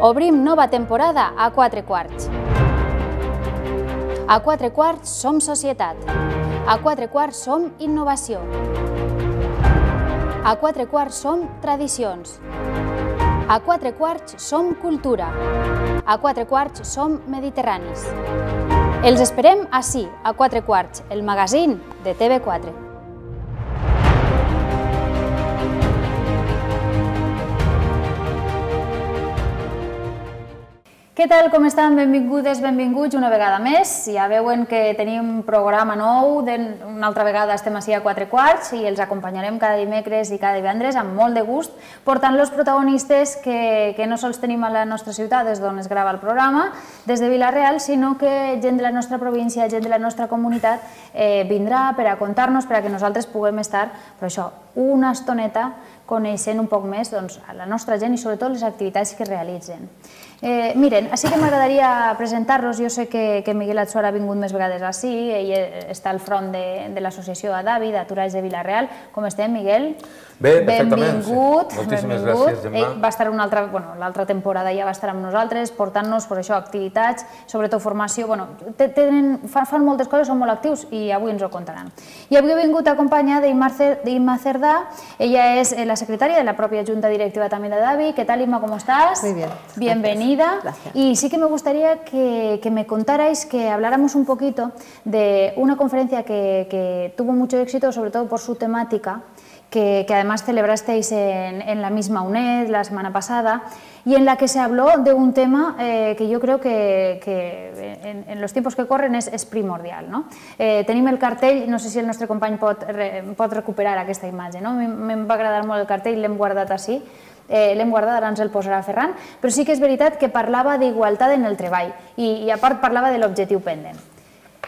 Obrim nova temporada a 4 quarts. A 4 quarts som societat. A 4 quarts som innovació. A 4 quarts som tradicions. A 4 quarts som cultura. A 4 quarts som mediterranis. Els esperem ací, a 4 quarts, el magazín de TV4. Què tal, com estan? Benvingudes, benvinguts una vegada més. Ja veuen que tenim programa nou, una altra vegada estem ací a 4 quarts i els acompanyarem cada dimecres i cada divendres amb molt de gust, portant los protagonistes que no sols tenim a la nostra ciutat, des d'on es grava el programa, des de Vila-real, sinó que gent de la nostra província, gent de la nostra comunitat vindrà per a contar-nos, per a que nosaltres puguem estar, però això, una estoneta coneixent un poc més la nostra gent i sobretot les activitats que realitzen. Miren, així que m'agradaria presentar-los. Jo sé que Miguel Atsuara ha vingut més vegades ací, ell està al front de l'associació ADAVI, d'Aturats de Vila-real. Com estem, Miguel? Bé, perfectament. Benvingut. Moltíssimes gràcies, Gemma. Ell va estar l'altra temporada, ja va estar amb nosaltres, portant-nos, per això, activitats, sobretot formació. Fan moltes coses, són molt actius i avui ens ho contaran. I avui he vingut acompanyada d'Imma Cerdà. Ella és la secretària de la pròpia Junta Directiva també d'ADAVI. ¿Qué tal, Imma? ¿Cómo estás? Muy bien. Bienvenida. Gracias. Y sí que me gustaría que me contarais, que habláramos un poquito de una conferencia que tuvo mucho éxito, sobre todo por su temática, que además celebrasteis en la misma UNED la semana pasada, y en la que se habló de un tema que yo creo que en los tiempos que corren és primordial. Tenim el cartell, no sé si el nostre company pot recuperar aquesta imatge. Me'n va agradar molt el cartell, l'hem guardat ací, l'hem guardat, ara ens el posarà Ferran, però sí que és veritat que parlava d'igualtat en el treball i a part parlava de l'objectiu pendent.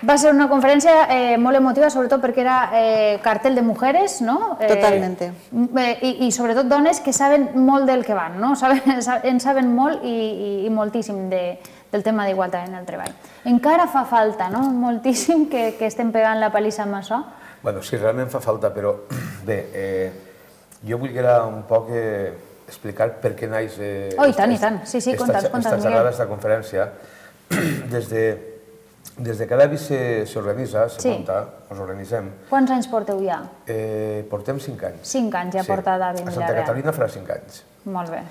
Va ser una conferència molt emotiva, sobretot perquè era cartel de mujeres, no? Totalmente. I sobretot dones que saben molt del que van, no? En saben molt i moltíssim del tema d'igualtat en el treball. Encara fa falta, no? Moltíssim que estem pegant la palissa amb això. Bueno, sí, realment fa falta, però bé, jo vull un poc explicar per què naix esta xerrada, esta conferència. Des que l'ADAVI s'organitza, se munta, ens organitzem. Quants anys porteu ja? Portem 5 anys. 5 anys ja porta ADAVI en Vila-real. A Santa Catalina farà 5 anys. Molt bé.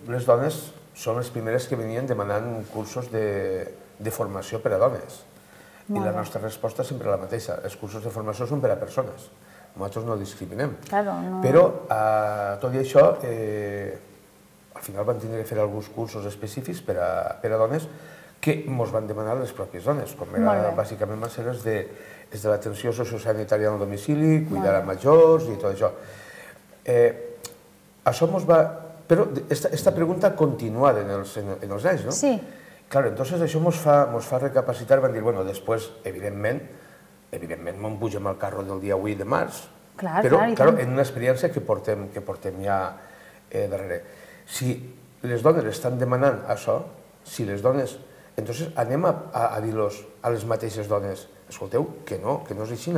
Les dones són les primeres que venien demanant cursos de formació per a dones. I la nostra resposta és sempre la mateixa. Els cursos de formació són per a persones. Nosaltres no discriminem. Però, tot i això, al final vam tenir que fer alguns cursos específics per a dones que ens van demanar les pròpies dones, com bàsicament van ser els de l'atenció sociosanitària al domicili, cuidar a majors i tot això. Això ens va... Però aquesta pregunta ha continuat en els anys, no? Sí. Clar, entonces això ens fa recapacitar, van dir, bueno, després, evidentment, me'n pugem al carro del dia 8 de març, però en una experiència que portem ja darrere. Si les dones estan demanant això, si les dones... Entonces anem a dir-los a les mateixes dones, escolteu, que no és així,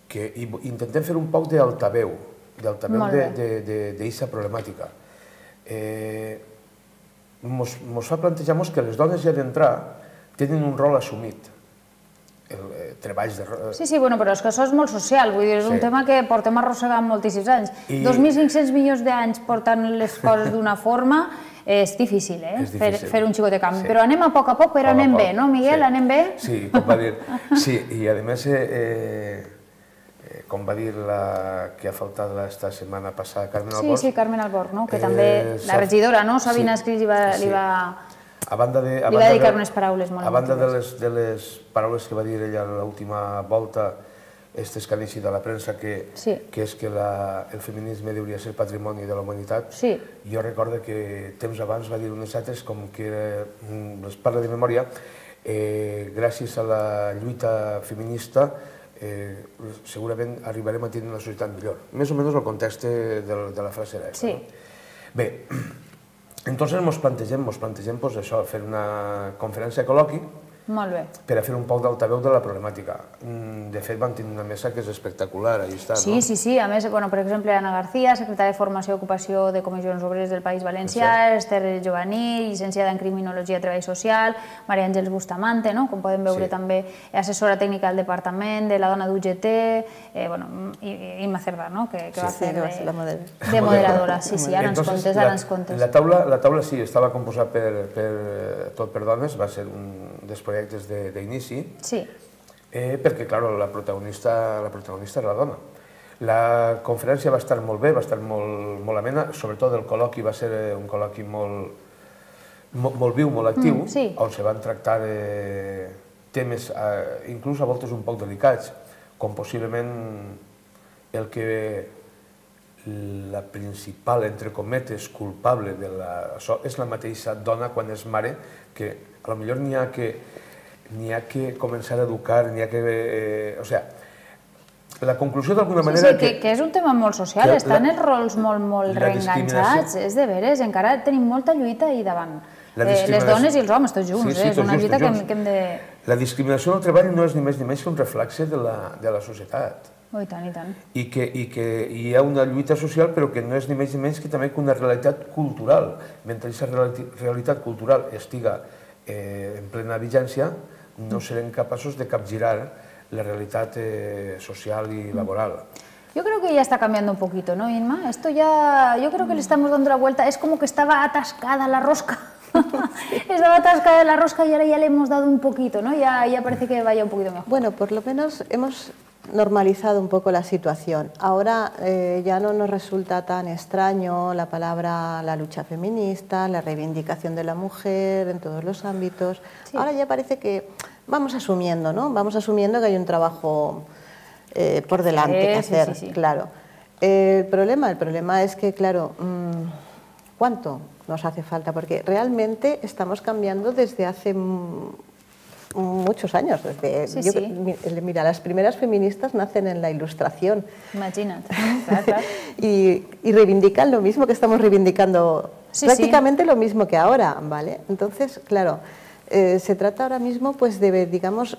que intentem fer un poc d'altaveu d'aquesta problemàtica. Ens fa plantejar-nos que les dones ja d'entrar tenen un rol assumit. Treballs de... Sí, però és que això és molt social, vull dir, és un tema que portem arrossegant moltíssims anys. 2.500 milions d'anys portant les coses d'una forma és difícil, fer un xicot de canvi. Però anem a poc, però anem bé, no, Miguel? Anem bé? Sí, com va dir. Sí, i a més, com va dir la que ha faltat esta setmana passada, Carmen Alborg. Sí, Carmen Alborg, que també la regidora, Sabina Escris, li va dedicar unes paraules molt emotives. A banda de les paraules que va dir ella a l'última volta, aquestes que han eixit a la premsa, que és que el feminisme hauria de ser patrimoni de la humanitat. Jo recordo que temps abans va dir unes altres, com que les parla de memòria, gràcies a la lluita feminista segurament arribarem a tenir una societat millor. Més o menys el context de la frase era aquesta. Bé, entonces ens plantegem això, fer una conferència de col·loqui Molt bé. per a fer un poc d'altaveu de la problemàtica. De fet, van tenir una mesa que és espectacular, allà està, no? Sí, sí, sí. A més, per exemple, Anna García, secretària de Formació i Ocupació de Comissions Obreres del País Valencià, Esther Jovaní, llicenciada en Criminologia i Treball Social, Maria Àngels Bustamante, com podem veure també, assessora tècnica del Departament de la Dona d'UGT, Imma Cerdà, que va fer de moderadora. Sí, sí, ara ens contes, ara ens contes. La taula sí, estava composada tot per dones, va ser un dels projectes d'inici, perquè, clar, la protagonista era la dona. La conferència va estar molt bé, va estar molt amena, sobretot el col·loqui va ser un col·loqui molt viu, molt actiu, on se van tractar temes, inclús a voltes un poc delicats, com possiblement el que la principal, entre cometes, culpable d'això és la mateixa dona quan és mare, que potser n'hi ha que començar a educar, n'hi ha que... O sigui, la conclusió d'alguna manera... Sí, que és un tema molt social, estan els rols molt reenganxats, és de veres, encara tenim molta lluita ahí davant. Les dones i els homes, tots junts, és una lluita que hem de... La discriminació del treball no és ni més ni menys que un reflexe de la societat. Oh, i tant, i tant. I que hi ha una lluita social, però que no és ni més ni menys que també una realitat cultural. Mentre aquesta realitat cultural estiga en plena vigència, no serem capaços de capgirar la realidad social y laboral. Yo creo que ya está cambiando un poquito, ¿no, Inma? Esto ya, yo creo que le estamos dando la vuelta. Es como que estaba atascada la rosca. Estaba atascada la rosca y ahora ya le hemos dado un poquito, ¿no? Ya parece que vaya un poquito mejor. Bueno, por lo menos hemos normalizado un poco la situación. Ahora ya no nos resulta tan extraño la palabra la lucha feminista, la reivindicación de la mujer en todos los ámbitos. Sí. Ahora ya parece que vamos asumiendo, ¿no? Vamos asumiendo que hay un trabajo por delante que hacer, sí. Claro. El problema es que, claro, ¿cuánto nos hace falta? Porque realmente estamos cambiando desde hace muchos años. Mira, las primeras feministas nacen en la Ilustración. Imagínate. Claro. Y reivindican lo mismo que estamos reivindicando, prácticamente lo mismo que ahora, ¿vale? Entonces, claro, se trata ahora mismo pues de, digamos,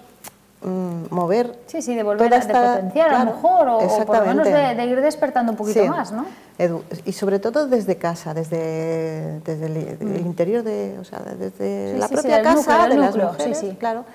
mover... Sí, de volver a potenciar, claro, a lo mejor, o por lo menos de ir despertando un poquito más, ¿no? Y sobre todo desde casa, desde el interior, desde la propia casa, de las mujeres, claro.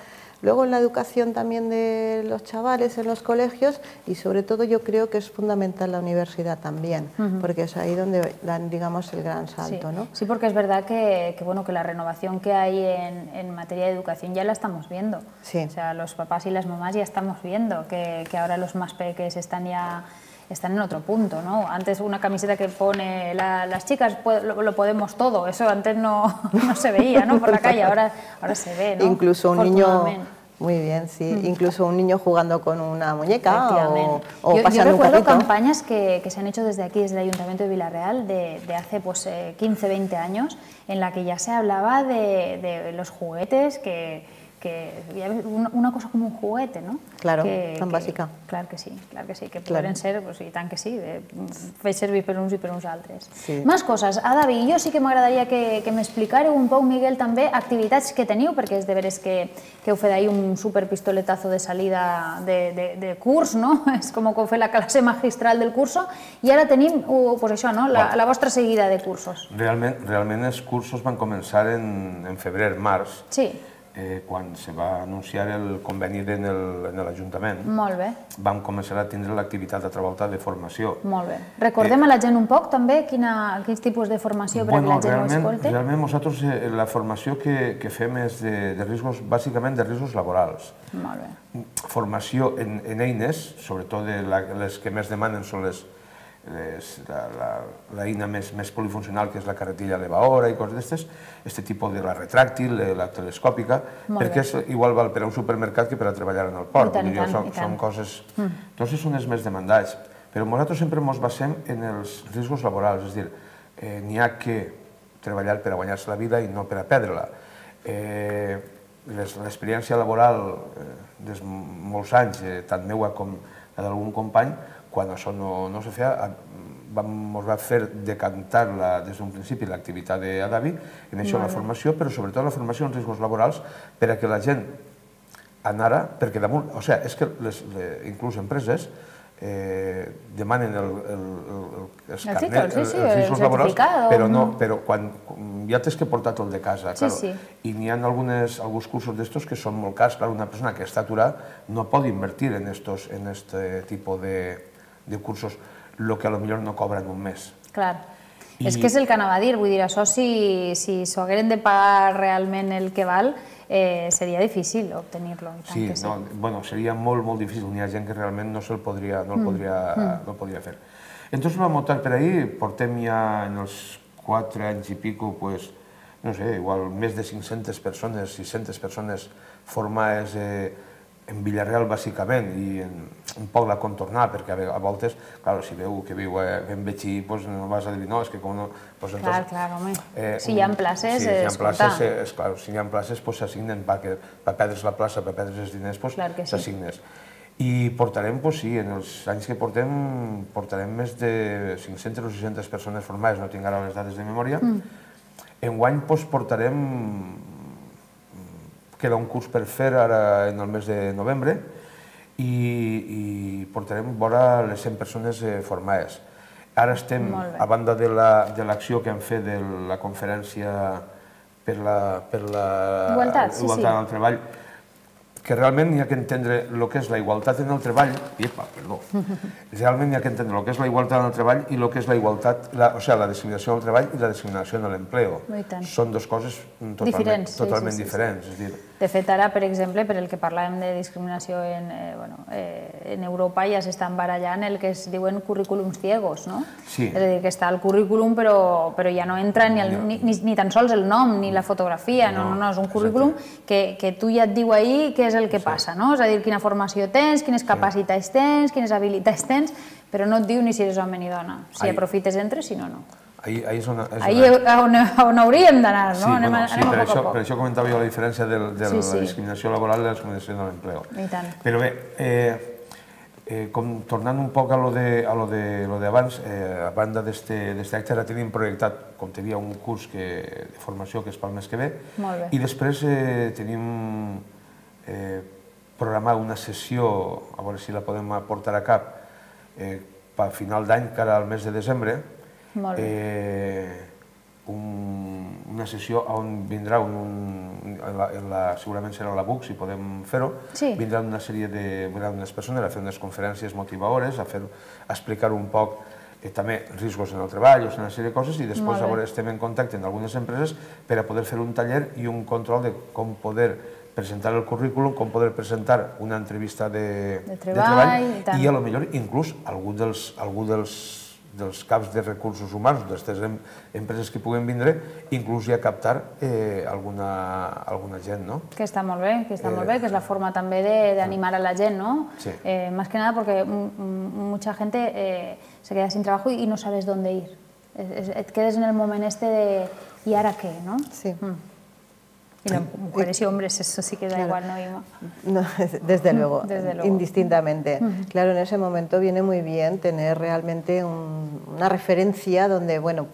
Luego en la educación también de los chavales, en los colegios, y sobre todo yo creo que es fundamental la universidad también, porque es ahí donde dan, digamos, el gran salto, ¿no? Sí, porque es verdad que la renovación que hay en materia de educación ya la estamos viendo. Sí. O sea, los papás y las mamás ya estamos viendo que ahora los más peques están en otro punto, ¿no? Antes una camiseta que pone las chicas lo podemos todo, eso antes no se veía, ¿no? Por la calle, ahora se ve, ¿no? Incluso un niño, muy bien, sí, incluso un niño jugando con una muñeca o pasando un carrito. Yo recuerdo campañas que se han hecho desde aquí, desde el Ayuntamiento de Villarreal, de hace pues 15, 20 años, en la que ya se hablaba de los juguetes, que una cosa como un juguete, ¿no? Claro, tan bàsica. Claro que sí, que poden ser, pues, i tant que sí, fer servir per uns i per uns altres. Sí. Més coses. David, jo sí que m'agradaria que m'explicareu un poc, Miguel, també activitats que teniu, perquè és de veres que heu fet ahir un superpistoletazo de salida de curs, no? És com que heu fet la classe magistral del curso, i ara tenim, pues això, no? La vostra seguida de cursos. Realment els cursos van començar en febrer, març. Sí. Quan se va anunciar el conveni en l'Ajuntament, vam començar a tindre l'activitat altra volta de formació. Molt bé. Recordem a la gent un poc també quins tipus de formació perquè la gent ho escolti? Realment nosaltres la formació que fem és de riscos, bàsicament de riscos laborals. Molt bé. Formació en eines, sobretot les que més demanen són l'eina més polifuncional, que és la carretilla elevadora i coses d'aquestes, aquest tipus de la retràctil, la telescòpica, perquè igual val per a un supermercat que per a treballar en el port. Són coses... Tots són els més demandats, però nosaltres sempre ens basem en els riscos laborals, és a dir, n'hi ha que treballar per a guanyar-se la vida i no per a perdre-la. L'experiència laboral de molts anys, tant meua com la d'algun company, quan això no se feia, ens va fer decantar des d'un principi l'activitat d'Adavi, en això la formació, però sobretot la formació en riscos laborals, per a que la gent ara, perquè damunt, o sigui, és que inclús empreses demanen els carnets, els riscos laborals, però quan ja tens que portar tot de casa, i n'hi ha alguns cursos d'estos que són molt cars. Una persona que està aturada no pot invertir en aquest tipus de cursos, el que potser no cobra en un mes. Clar. És que és el que anava a dir, vull dir, això si s'ho hagueren de pagar realment el que val, seria difícil obtenir-lo. Sí, seria molt, molt difícil. N'hi ha gent que realment no el podria fer. Entonces vam optar per ahí, portem ja en els 4 anys i pico, no sé, igual més de 500 persones, 600 persones formades en Villarreal, bàsicament, i un poc la contornar, perquè a voltes, clar, si veu que viu en Betxí, no vas a dir, no, és que com no... Clar, home. Si hi ha places, si hi ha places, s'assignen per perdre's la plaça, per perdre's els diners, s'assignes. I portarem, sí, en els anys que portarem més de 500 o 600 persones formades, no tinc ara les dades de memòria. Enguany portarem... Queda un curs per fer ara en el mes de novembre i portarem vora les 100 persones formades. Ara estem, a banda de l'acció que hem fet de la conferència per la igualtat en el treball, que realment hi ha que entendre el que és la igualtat en el treball, realment hi ha que entendre el que és la igualtat en el treball i el que és la igualtat, o sigui, la discriminació en el treball i la discriminació en l'empleo. Són dues coses totalment diferents. De fet, ara, per exemple, per el que parlàvem de discriminació en Europa, ja s'estan barallant el que es diuen currículums ciegos, no? Sí. És a dir, que està el currículum, però ja no entra ni tan sols el nom ni la fotografia, no, és un currículum que tu ja et diu ahí què és el que passa, no? És a dir, quina formació tens, quines capacitats tens, quines habilitats tens, però no et diu ni si eres home ni dona. Si aprofites, entres, si no, no. Ahí és on hauríem d'anar, no? Anem a poc. Per això comentava jo la diferència de la discriminació laboral i la discriminació de l'empleo. Però bé, tornant un poc a lo d'abans, a banda d'aquest acte, ara tenim projectat, com te dia, un curs de formació que és pel mes que ve, i després tenim programar una sessió, a veure si la podem portar a cap, per final d'any, cara al mes de desembre, una sessió on vindrà, segurament serà a la BUC, si podem fer-ho, vindrà unes persones a fer unes conferències motivadores, a explicar un poc també riscos en el treball, una sèrie de coses, i després estem en contacte amb algunes empreses per a poder fer un taller i un control de com poder presentar el currículum, com poder presentar una entrevista de treball i potser inclús algú dels caps de recursos humans d'aquestes empreses que puguen vindre, inclús ja captar alguna gent, no? Que està molt bé, que és la forma també d'animar a la gent, ¿no? Más que nada porque mucha gente se queda sin trabajo y no sabes dónde ir. Et quedes en el moment este de ¿y ahora qué? ¿no? Sí. Y las mujeres y hombres, eso sí que da igual, ¿no, Ima? No, desde luego, indistintamente. Claro, en ese momento viene muy bien tener realmente una referencia donde, bueno,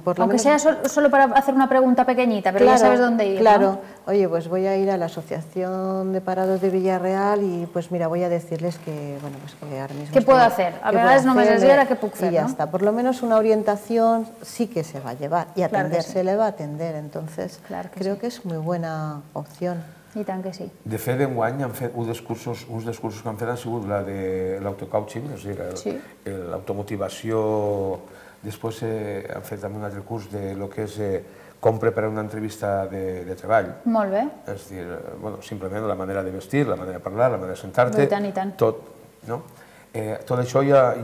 por lo menos... Aunque sea solo para hacer una pregunta pequeñita, pero ya sabes dónde ir, Claro, oye, pues voy a ir a la Asociación de Parados de Villarreal y pues mira, voy a decirles que, bueno, pues que ahora mismo... ¿Qué puedo hacer? A veces no me sé si era que puc fer, ¿no? Y ya está, por lo menos una orientación sí que se va a llevar y atender se le va a atender, entonces creo que es muy buena opció. I tant que sí. De fet, enguany han fet uns dels cursos que han fet han sigut la de l'autocoaching, és a dir, l'automotivació. Després han fet també un altre curs de lo que és com preparar una entrevista de treball. Molt bé. És a dir, simplement la manera de vestir, la manera de parlar, la manera de sentar-te, tot. Tot això ja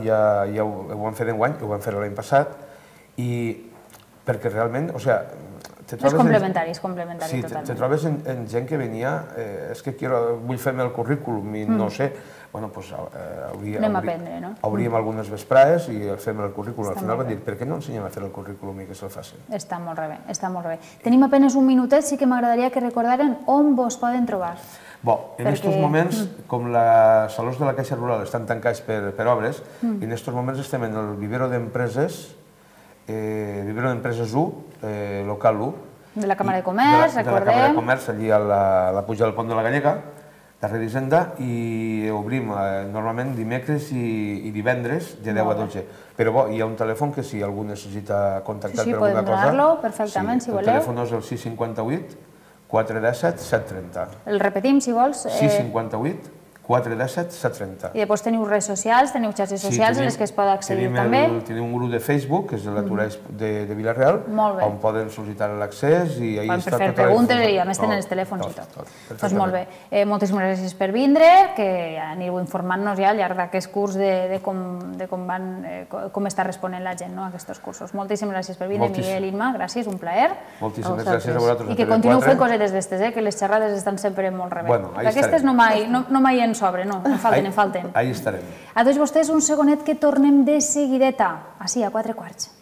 ho han fet enguany, ho van fer l'any passat, i perquè realment, o sigui, és complementari, totalment. Sí, te trobes en gent que venia, és que vull fer-me el currículum i no sé, bueno, doncs hauríem algunes vesprades i fem el currículum. Al final van dir, per què no ensenyem a fer el currículum i que se'l facin? Està molt bé, està molt bé. Tenim apenas un minutet, sí que m'agradaria que recordaren on vos poden trobar. En aquests moments, com les salons de la Caixa Rural estan tancats per obres, en aquests moments estem en el vivero d'empreses, Vivero d'Empreses 1, local 1. De la Càmera de Comerç, recordem. De la Càmera de Comerç, allí a la puja del Pont de la Gallega, darrere d'Hisenda, i obrim normalment dimecres i divendres de 10 a 12. Però bo, hi ha un telèfon que si algú necessita contactar per alguna cosa... Sí, podem donar-lo perfectament, si voleu. El telèfon és el 658 417 730. El repetim, si vols. 658 417 730. I després teniu redes socials, teniu xarxes socials en les que es pot accedir també. Tenim un grup de Facebook, que és l'Aturès de Vila-real, on poden sol·licitar l'accés i ahí està tota la informació. Poden fer preguntes i a més tenen els telèfons i tot. Doncs molt bé. Moltíssimes gràcies per vindre, que anireu informant-nos ja al llarg d'aquest curs de com està responent la gent a aquests cursos. Moltíssimes gràcies per vindre, Miguel i Imma, gràcies, un plaer. Moltíssimes gràcies a vosaltres. I que continueu fent cosetes d'estes, que les xerrades estan sempre molt rebé. Aquestes no mai en sobre, no, en falten. Ahí estarem. A tots vostès un segonet que tornem de seguideta, així a 4:15.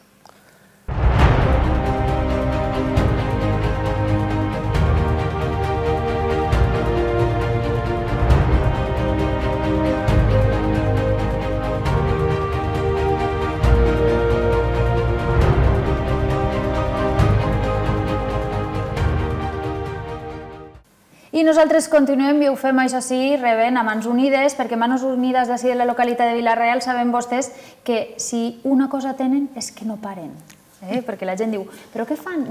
I nosaltres continuem i ho fem, això sí, rebent a Mans Unides, perquè Mans Unides d'ací de la localitat de Vila-real saben vostès que si una cosa tenen és que no paren. Perquè la gent diu, però què fan?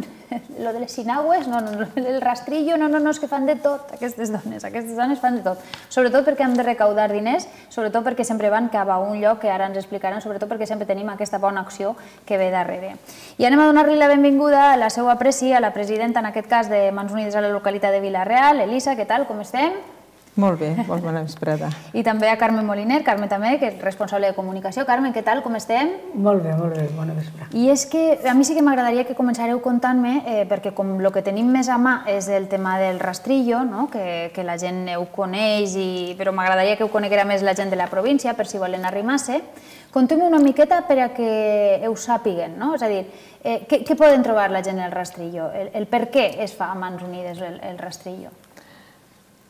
Lo de les sinagües? No, el rastrillo, no, és que fan de tot, aquestes dones fan de tot. Sobretot perquè han de recaudar diners, sobretot perquè sempre van cap a un lloc que ara ens explicaran, sobretot perquè sempre tenim aquesta bona acció que ve darrere. I anem a donar-li la benvinguda a la seva presi, a la presidenta, en aquest cas, de Mans Unides a la localitat de Vila-real. Elisa, què tal, com estem? Molt bé, molt bona vesprada. I també a Carmen Moliner, Carmen també, que és responsable de comunicació. Carmen, què tal, com estem? Molt bé, bona vesprada. I és que a mi sí que m'agradaria que començareu contant-me, perquè com el que tenim més a mà és el tema del rastrillo, que la gent ho coneix, però m'agradaria que ho coneguera més la gent de la província, per si volen arrimar-se. Conteu-me una miqueta per a que ho sàpiguen, és a dir, què poden trobar la gent en el rastrillo? El per què es fa a Mans Unides el rastrillo?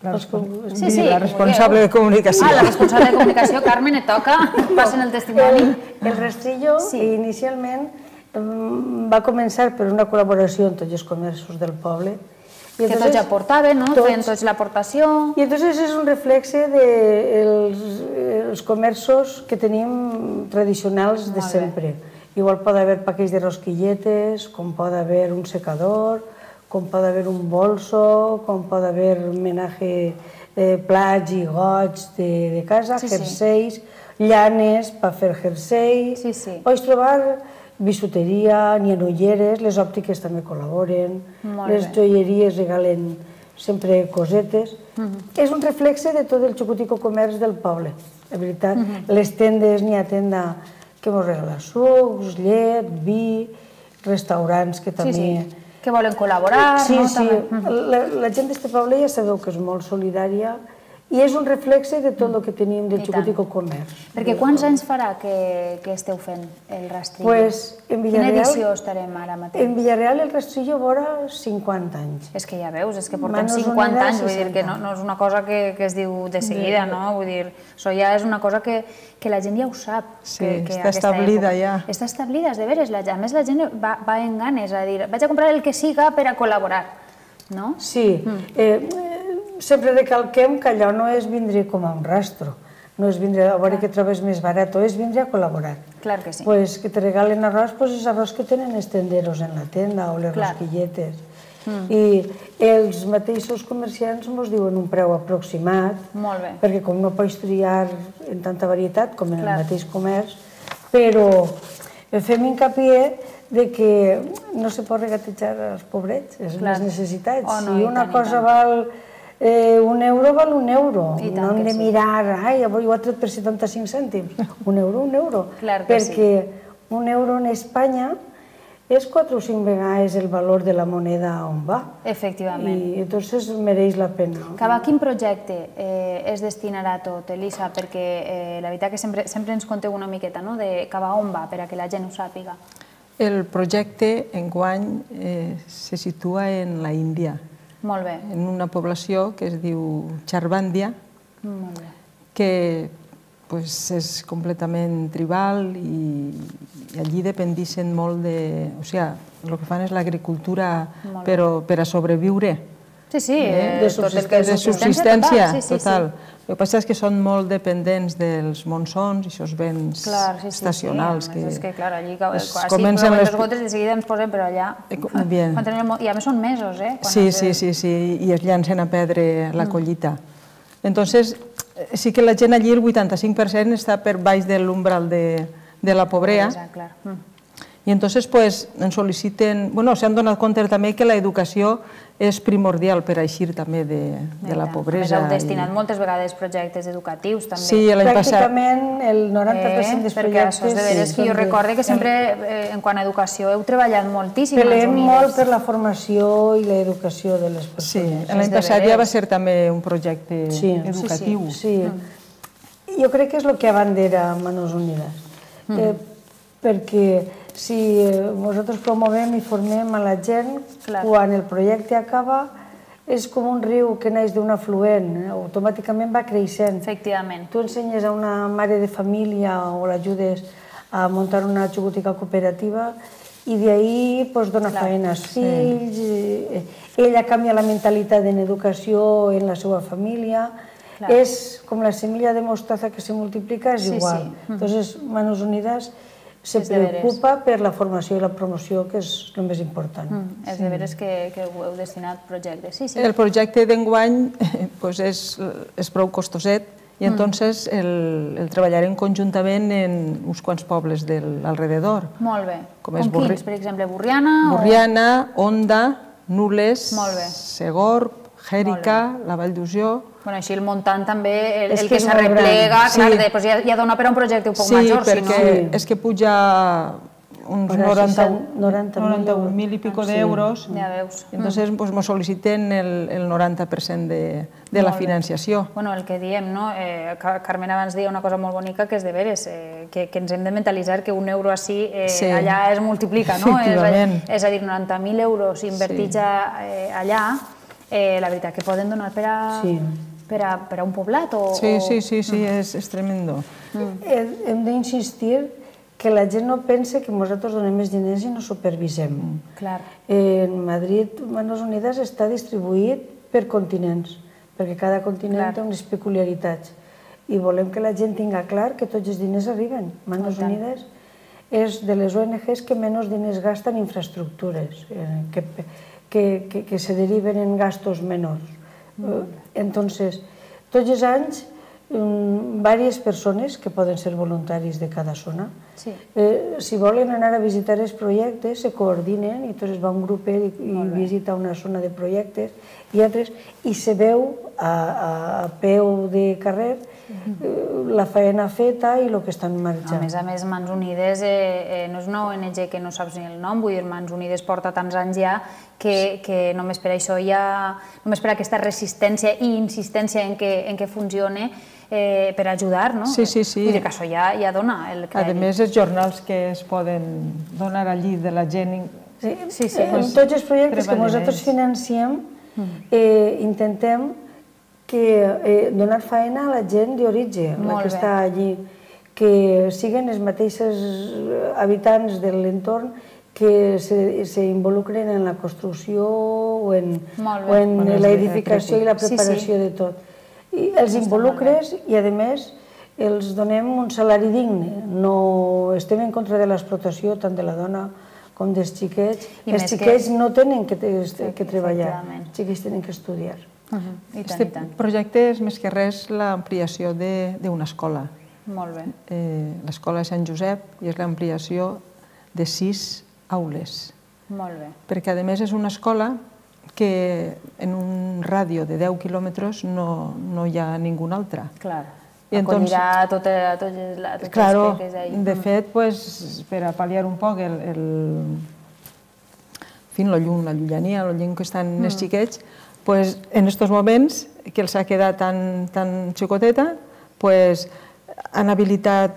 La responsable de comunicació. La responsable de comunicació, Carmen, et toca, passen el testimoni. El rastrillo inicialment va començar per una col·laboració amb tots els comerços del poble. Que tots ja portaven, feien tots l'aportació. I entonces és un reflexe dels comerços que tenim tradicionals de sempre. Igual pot haver paquets de rosquilletes, com pot haver un secador, com pot haver un bolso, com pot haver homenatge plats i gots de casa, jerseis, llanes per fer jerseis. Pots trobar bisuteria, n'hi ha ulleres, les òptiques també col·laboren, les joieries regalen sempre cosetes. És un reflexe de tot el xocutico comerç del poble, la veritat. Les tendes, n'hi ha tenda que ens regala sucs, llet, vi, restaurants que també... que volen col·laborar. Sí, la gent d'aquest poble ja sabeu que és molt solidària i és un reflexe de tot el que tenim del xocutico comerç. Perquè quants anys farà que esteu fent el rastrillo? Quina edició estarem ara mateix? En Villarreal el rastrillo vora 50 anys. És que ja veus, és que portem 50 anys, vull dir que no és una cosa que es diu de seguida, no? Vull dir, això ja és una cosa que la gent ja ho sap. Sí, està establida ja. Està establida, de veres. A més, la gent va en ganes, a dir, vaig a comprar el que siga per a col·laborar, no? Sí. Sempre recalquem que allò no és vindre com a un rastro, no és vindre a veure que trobes més barat, és vindre a col·laborar. Clar que sí. Pues que te regalen arròs, pues és arròs que tenen els tenderos en la tenda o les rosquilletes. I els mateixos comerciants ens diuen un preu aproximat, perquè com no pots triar en tanta varietat com en el mateix comerç, però fem hincapié de que no se pot regatejar als pobrets, les necessitats. Si una cosa val €1, val €1. No hem de mirar, ai, avui ho ha tret per 75 cèntims. €1. Perquè €1 en Espanya és 4 o 5 vegades el valor de la moneda on va. Efectivament. I entonces mereix la pena. Cap a quin projecte es destinarà tot, Elisa? Perquè la veritat que sempre ens conteu una miqueta de cap a on va, per a que la gent ho sàpiga. El projecte enguany se situa en la Índia. Molt bé. En una població que es diu Charbàndia, que és completament tribal i allí dependixen molt de... O sigui, el que fan és l'agricultura per a sobreviure. Sí, de tot el que és de subsistència total. El que passa és que són molt dependents dels monsons i aquests vents estacionals. És que, clar, allí quasi comencen les gotes de seguida ens posem, però allà... I a més són mesos, eh? Sí, i es llancen a perdre la collita. Entonces, sí que la gent allí, el 85% està per baix de l'umbral de la pobresa. I entonces ens sol·liciten, s'han donat compte també que l'educació és primordial per eixir també de la pobresa. Heu destinat moltes vegades projectes educatius també. Sí, l'any passat. Pràcticament el 90% dels projectes... Perquè això és de veres que jo recordo que sempre, en quant a educació, heu treballat moltíssim. Pelem molt per la formació i l'educació de les persones. Sí, l'any passat ja va ser també un projecte educatiu. Sí, jo crec que és el que abandera Manos Unides. Perquè si nosaltres promovem i formem a la gent, quan el projecte acaba és com un riu que neix d'un afluent, automàticament va creixent. Efectivament. Tu ensenyes a una mare de família o l'ajudes a muntar una xocotica cooperativa i d'ahir dona feina als fills, ella canvia la mentalitat en educació en la seva família, és com la semilla de mostaza que se multiplica, és igual. Entonces, Manos Unides se preocupa per la formació i la promoció, que és el més important. És de veres que heu destinat projectes. El projecte d'enguany és prou costoset i entonces el treballarem conjuntament en uns quants pobles de l'alrededor. Molt bé. Com quins? Per exemple, Borriana? Borriana, Onda, Nules, Segorb, Jèrica, la Vall d'Usió. Així el muntant també, el que s'arreplega, ja dona per a un projecte un poc major. Sí, perquè és que puja uns 91.000 i pico d'euros. Ja veus. Entonces ens sol·liciten el 90% de la financiació. El que diem, no? Carmen abans deia una cosa molt bonica que és de veres, que ens hem de mentalitzar que un euro així allà es multiplica, no? És a dir, 90.000 euros invertits allà, la veritat que poden donar per a un poblat? Sí, és tremendo. Hem d'insistir que la gent no pense que nosaltres donem més diners i no supervisem. En Madrid, Manos Unides està distribuït per continents, perquè cada continent té unes peculiaritats. I volem que la gent tinga clar que tots els diners arriben. Manos Unides és de les ONGs que menys diners gasta en infraestructures, que se deriven en gastos menors. Entonces, tots els anys, diverses persones que poden ser voluntaris de cada zona, si volen anar a visitar els projectes, se coordinen i tots va un grupet i visita una zona de projectes i altres, i se veu a peu de carrer la feina feta i el que estan marxant. A més, Mans Unides no és una ONG que no saps ni el nom, vull dir, Mans Unides porta tants anys ja que només per això només per aquesta resistència i insistència en què funcione per ajudar, no? Sí. Vull dir que això ja dona el crèdit. A més, els jornals que es poden donar allí de la gent... Sí. En tots els projectes que nosaltres financiem intentem donar feina a la gent d'origen, la que està allí, que siguen els mateixos habitants de l'entorn que s'involucren en la construcció o en l'edificació i la preparació de tot. Els involucres i, a més, els donem un salari digne. No estem en contra de l'explotació tant de la dona com dels xiquets. Els xiquets no tenen que treballar, els xiquets tenen que estudiar. Aquest projecte és més que res l'ampliació d'una escola. Molt bé. L'escola de Sant Josep i és l'ampliació de 6 aules. Molt bé. Perquè, a més, és una escola que en un ràdio de 10 quilòmetres no hi ha ningú altre. Clar, acollirà tots els peques ahí. De fet, per a pal·liar un poc la llunyania, el lluny que estan els xiquets, en aquests moments que els ha quedat tan xicoteta, han habilitat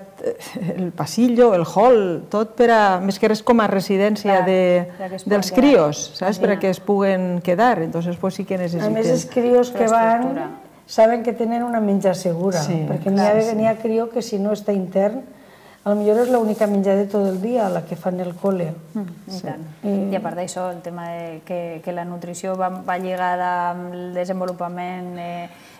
el passillo, el hall, tot per a, més que res com a residència dels crios, saps? Per a que es puguen quedar, entonces sí que necessiten... A més, els crios que van saben que tenen una menjar segura, perquè n'hi ha crió que si no està intern potser és l'única menjada tot el dia, la que fan el col·le. I tant. I a part d'això, el tema que la nutrició va lligada amb el desenvolupament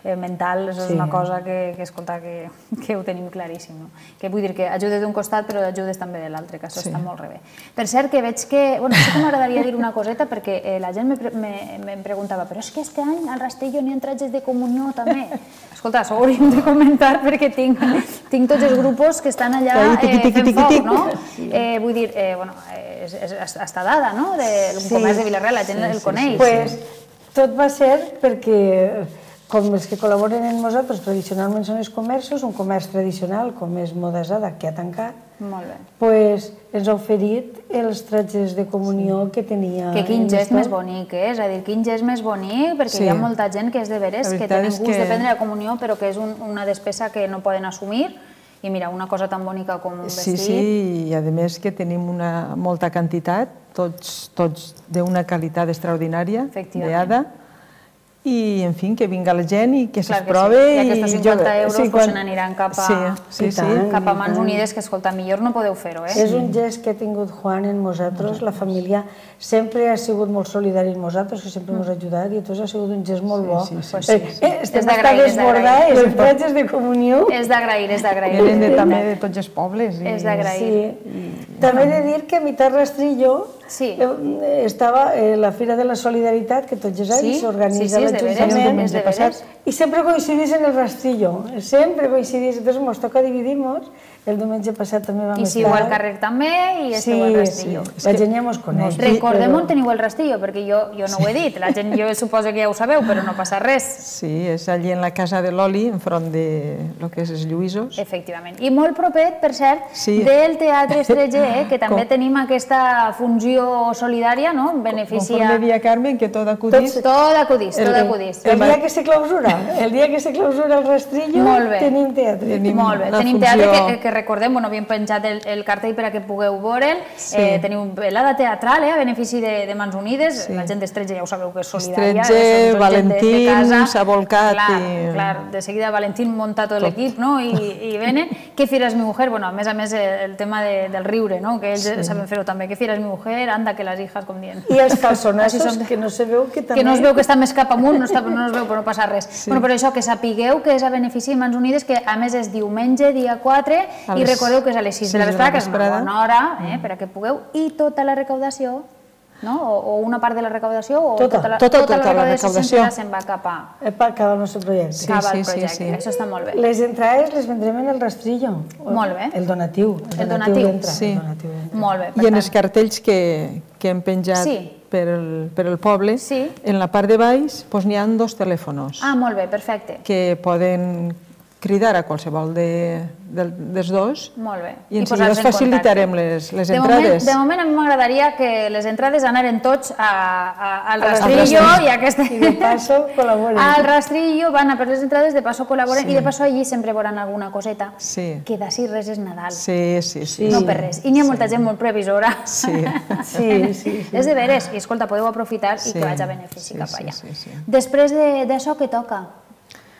mental és una cosa que escolta, que ho tenim claríssim. Que vull dir que ajudes d'un costat però ajudes també de l'altre, que això està molt bé. Per cert, que veig que... Bueno, sí que m'agradaria dir una coseta perquè la gent em preguntava però és que este any al Rastrillo n'hi ha tratges de comunió també. Escolta, això ho hauríem de comentar perquè tinc tots els grupos que estan allà fent foc, no? Vull dir, està dada, no? El comerç de Vila-real, la gent el coneix. Doncs tot va ser perquè com els que col·laboren amb nosaltres tradicionalment són els comerços, un comerç tradicional com és Modasada, que ha tancat, doncs ens ha oferit els tratges de comunió que tenia... Que quin gest més bonic, és a dir, quin gest més bonic, perquè hi ha molta gent que és de veres, que tenen gust de prendre la comunió, però que és una despesa que no poden assumir, i mira, una cosa tan bonica com un vestit... Sí, i a més que tenim molta quantitat, tots d'una qualitat extraordinària, beada, i, en fi, que vinga la gent i que se'ls prove. I aquests 50 euros se n'aniran cap a Mans Unides, que, escolta, millor no podeu fer-ho, eh? És un gest que ha tingut Juan en nosaltres, la família sempre ha sigut molt solidari amb nosaltres, que sempre ens ha ajudat, i tots ha sigut un gest molt bo. Estem a desbordar, els tratges de comunió. És d'agrair, és d'agrair. Venen també de tots els pobles. És d'agrair. També he de dir que a Mitat Rastrillo estava la Fira de la Solidaritat, que tots els anys s'organitza l'Ajuntament, i sempre coincidís en el Rastrillo, sempre coincidís, entonces ens toca dividir-nos. El diumenge passat també vam estar... I sigueu al carrer també i esteu al Rastrillo. La gent ja mos coneix. Recordem on teniu el Rastrillo, perquè jo no ho he dit, la gent jo suposo que ja ho sabeu, però no passa res. Sí, és allí en la Casa de l'Oli, enfront de lo que és els Lluïsos. Efectivament. I molt propet, per cert, del Teatre Estreger, que també tenim aquesta funció solidària, no? Beneficia... Conforme Via Carmen, que tot acudís. Tot acudís, tot acudís. El dia que se clausura el Rastrillo, tenim teatre. Molt bé, tenim teatre que recordem, havíem penjat el cartell per a que pugueu veure'l. Teniu velada teatral a benefici de Mans Unides. La gent d'Estretge ja ho sabeu que és solidària. Estretge, Valentín, s'ha volcat. Clar, de seguida Valentín munta tot l'equip i venen. ¿Qué fiera es mi mujer? Bueno, a més, el tema del riure, que ells saben fer-ho també. ¿Qué fiera es mi mujer? Anda, que les hijas, com dient. I els calçonassos, que no se veu que també... Que no es veu que està més cap amunt, no es veu, però no passa res. Però això, que sapigueu que és a benefici de Mans Unides, que a més és diumenge, dia 4, i recordeu que és a les 6 de la vesprada, que és una bona hora per a que pugueu, i tota la recaudació, o una part de la recaudació, o tota la recaudació sempre se'n va cap al nostre projecte. Cap al projecte, això està molt bé. Les entrades les vendrem en el Rastrillo. Molt bé. El donatiu. El donatiu. Molt bé. I en els cartells que hem penjat per el poble, en la part de baix n'hi ha 2 telèfons. Ah, molt bé, perfecte. Que poden cridar a qualsevol dels dos i ens facilitarem les entrades. De moment a mi m'agradaria que les entrades anaren tots al Rastrillo i de passo col·laboren. Al Rastrillo van a per les entrades, de passo col·laboren i de passo allí sempre veuran alguna coseta que d'ací res és Nadal. No per res. I n'hi ha molta gent molt previsora. És de veres. I escolta, podeu aprofitar i que vaig a benefici cap allà. Després d'això, què toca?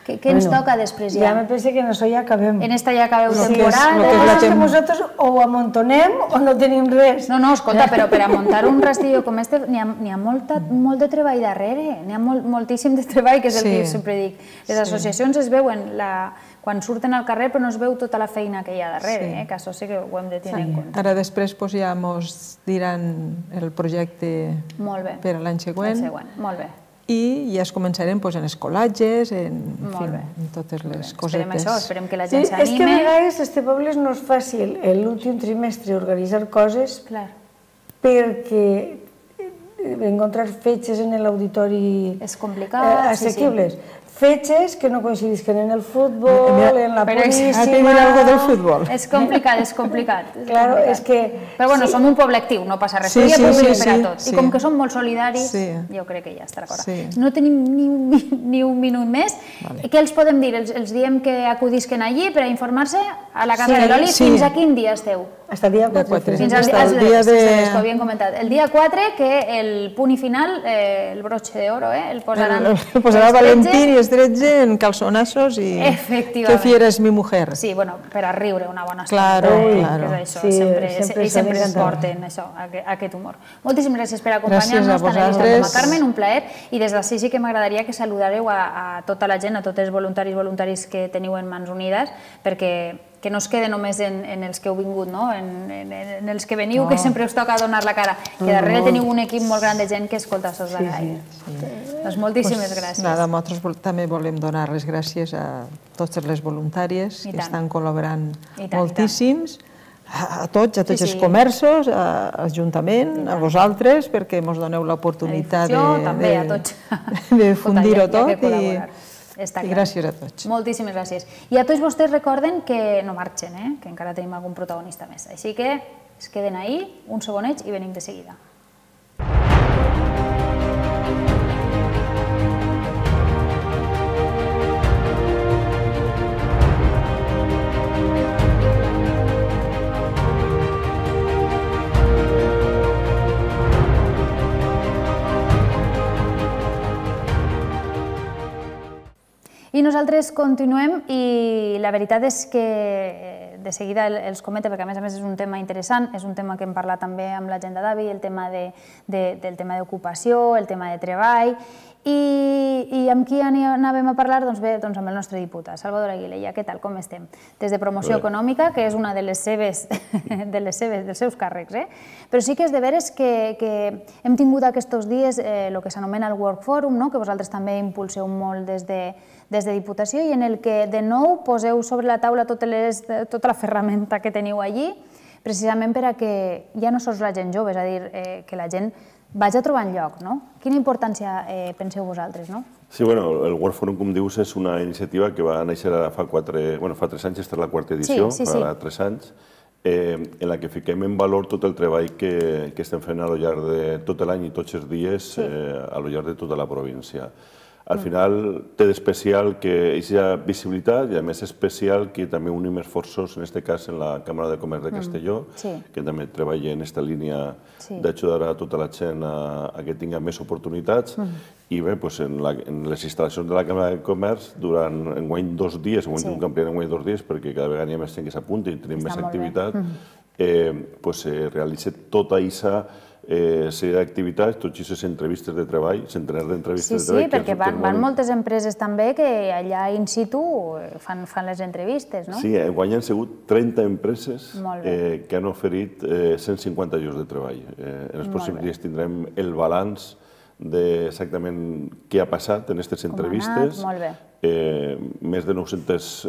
Què ens toca després ja? Ja me penso que en això ja acabem. En esta ja acabeu temporada. És que nosaltres o ho amuntonem o no tenim res. No, escolta, però per a muntar un Rastrillo com este n'hi ha molt de treball darrere, n'hi ha moltíssim de treball, que és el que sempre dic. Les associacions es veuen quan surten al carrer, però no es veu tota la feina que hi ha darrere, que això sí que ho hem de tenir en compte. Ara després ja ens diran el projecte per a l'any següent. Molt bé. I ja es començarem en escolatges, en totes les cosetes. Esperem això, esperem que la gent s'anime. És que a vegades este poble no és fàcil l'últim trimestre organitzar coses perquè encontrar fetges en l'auditori assequibles. Fetges que no coincidisquen en el futbol, en la puríssima... A tenir algo del futbol. És complicat, és complicat. Claro, és que... Però bueno, som un poble actiu, no passa res. Hi ha públic per a tots. I com que som molt solidaris, jo crec que ja estarà d'acord. No tenim ni un minut més. Què els podem dir? Els diem que acudisquen allí per a informar-se a la Casa de l'Oli. Fins a quin dia esteu? Hasta el dia 4. Fins al dia de... Ho havien comentat. El dia 4, que el punt i final, el broche d'oro, el posaran... El posarà Valentín i els 13 en calçonassos i... Efectivament. Que fiera és mi mujer. Sí, bueno, per a riure una bona estona. Claro. Sempre es porten això, aquest humor. Moltíssimes gràcies per acompanyar-nos, tant a Elisenda com a Carmen, un plaer. I des d'ací sí que m'agradaria que saludareu a tota la gent, a tots els voluntaris que teniu en Mans Unides, perquè que no es quede només en els que heu vingut, en els que veniu, que sempre us toca donar la cara, que darrere teniu un equip molt gran de gent que escolta sos de gaire. Doncs moltíssimes gràcies. Nosaltres també volem donar les gràcies a totes les voluntàries que estan col·laborant moltíssims, a tots els comerços, a l'Ajuntament, a vosaltres, perquè ens doneu l'oportunitat de difundir-ho tot i gràcies a tots. Moltíssimes gràcies. I a tots vostès recorden que no marxen, que encara tenim algun protagonista més. Així que es queden ahí, un segonet i venim de seguida. I nosaltres continuem i la veritat és que de seguida els comento perquè a més és un tema interessant, és un tema que hem parlat també amb la gent de Davi, el tema del tema d'ocupació, el tema de treball i amb qui anàvem a parlar? Doncs bé, amb el nostre diputat, Salvador Aguilella. Què tal, com estem? Des de Promoció Econòmica, que és una dels seus càrrecs, però sí que és de veres que hem tingut aquests dies el que s'anomena el Work Forum, que vosaltres també impulseu molt des de Diputació i en el que de nou poseu sobre la taula tota la ferramenta que teniu allí, precisament per a que ja no sols la gent jove, és a dir, que la gent vagi trobant lloc, no? Quina importància penseu vosaltres, no? Sí, bueno, el Work Forum, com dius, és una iniciativa que va néixer fa 3 anys, esta és la quarta edició, fa 3 anys, en la que fiquem en valor tot el treball que estem fent a lo llarg de tot l'any i tots els dies a lo llarg de tota la província. Al final té d'especial que hi ha visibilitat i a més especial que també unim esforços, en aquest cas en la Càmera de Comerç de Castelló, que també treballa en aquesta línia d'ajudar a tota la gent a que tinga més oportunitats. I bé, en les instal·lacions de la Càmera de Comerç, durant enguany 2 dies, enguany un campionat enguany 2 dies, perquè cada vegada hi ha més gent que s'apunta i tenim més activitat, se realitza tota aquesta sèrie d'activitats, tots aquestes entrevistes de treball, centenars d'entrevistes de treball. Sí, perquè van moltes empreses també que allà in situ fan les entrevistes, no? Sí, enguany han sigut 30 empreses que han oferit 150 llocs de treball. En els pròxims dies tindrem el balanç d'exactament què ha passat en aquestes entrevistes. Més de 900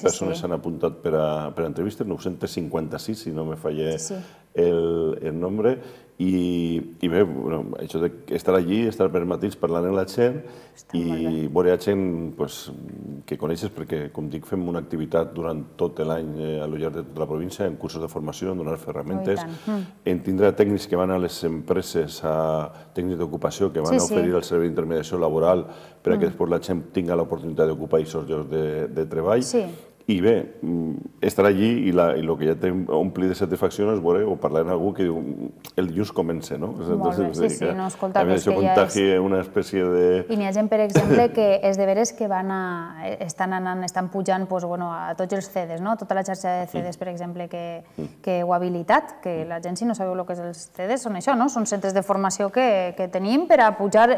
persones s'han apuntat per a entrevistes, 956, si no me falla el nombre. I bé, això d'estar allí, estar per matins parlant amb la gent i veure gent que coneixes perquè, com dic, fem una activitat durant tot l'any a lo llarg de tota la província, en cursos de formació, en donar ferramentes, en tindre tècnics que van a les empreses, tècnics d'ocupació que van a oferir el servei d'intermediació laboral per a que després la gent tinga l'oportunitat d'ocupar aquests llocs de treball. I bé, estar allí i el que ja t'ompli de satisfacció és veure o parlar amb algú que diu el dilluns comença, no? Molt bé, sí, no, escolta, que això contagia una espècie de... I n'hi ha gent, per exemple, que és de veres que estan pujant a tots els CEDES, no? Tota la xarxa de CEDES, per exemple, que heu habilitat, que la gent, si no sabeu el que és els CEDES, són això, no? Són centres de formació que tenim per a pujar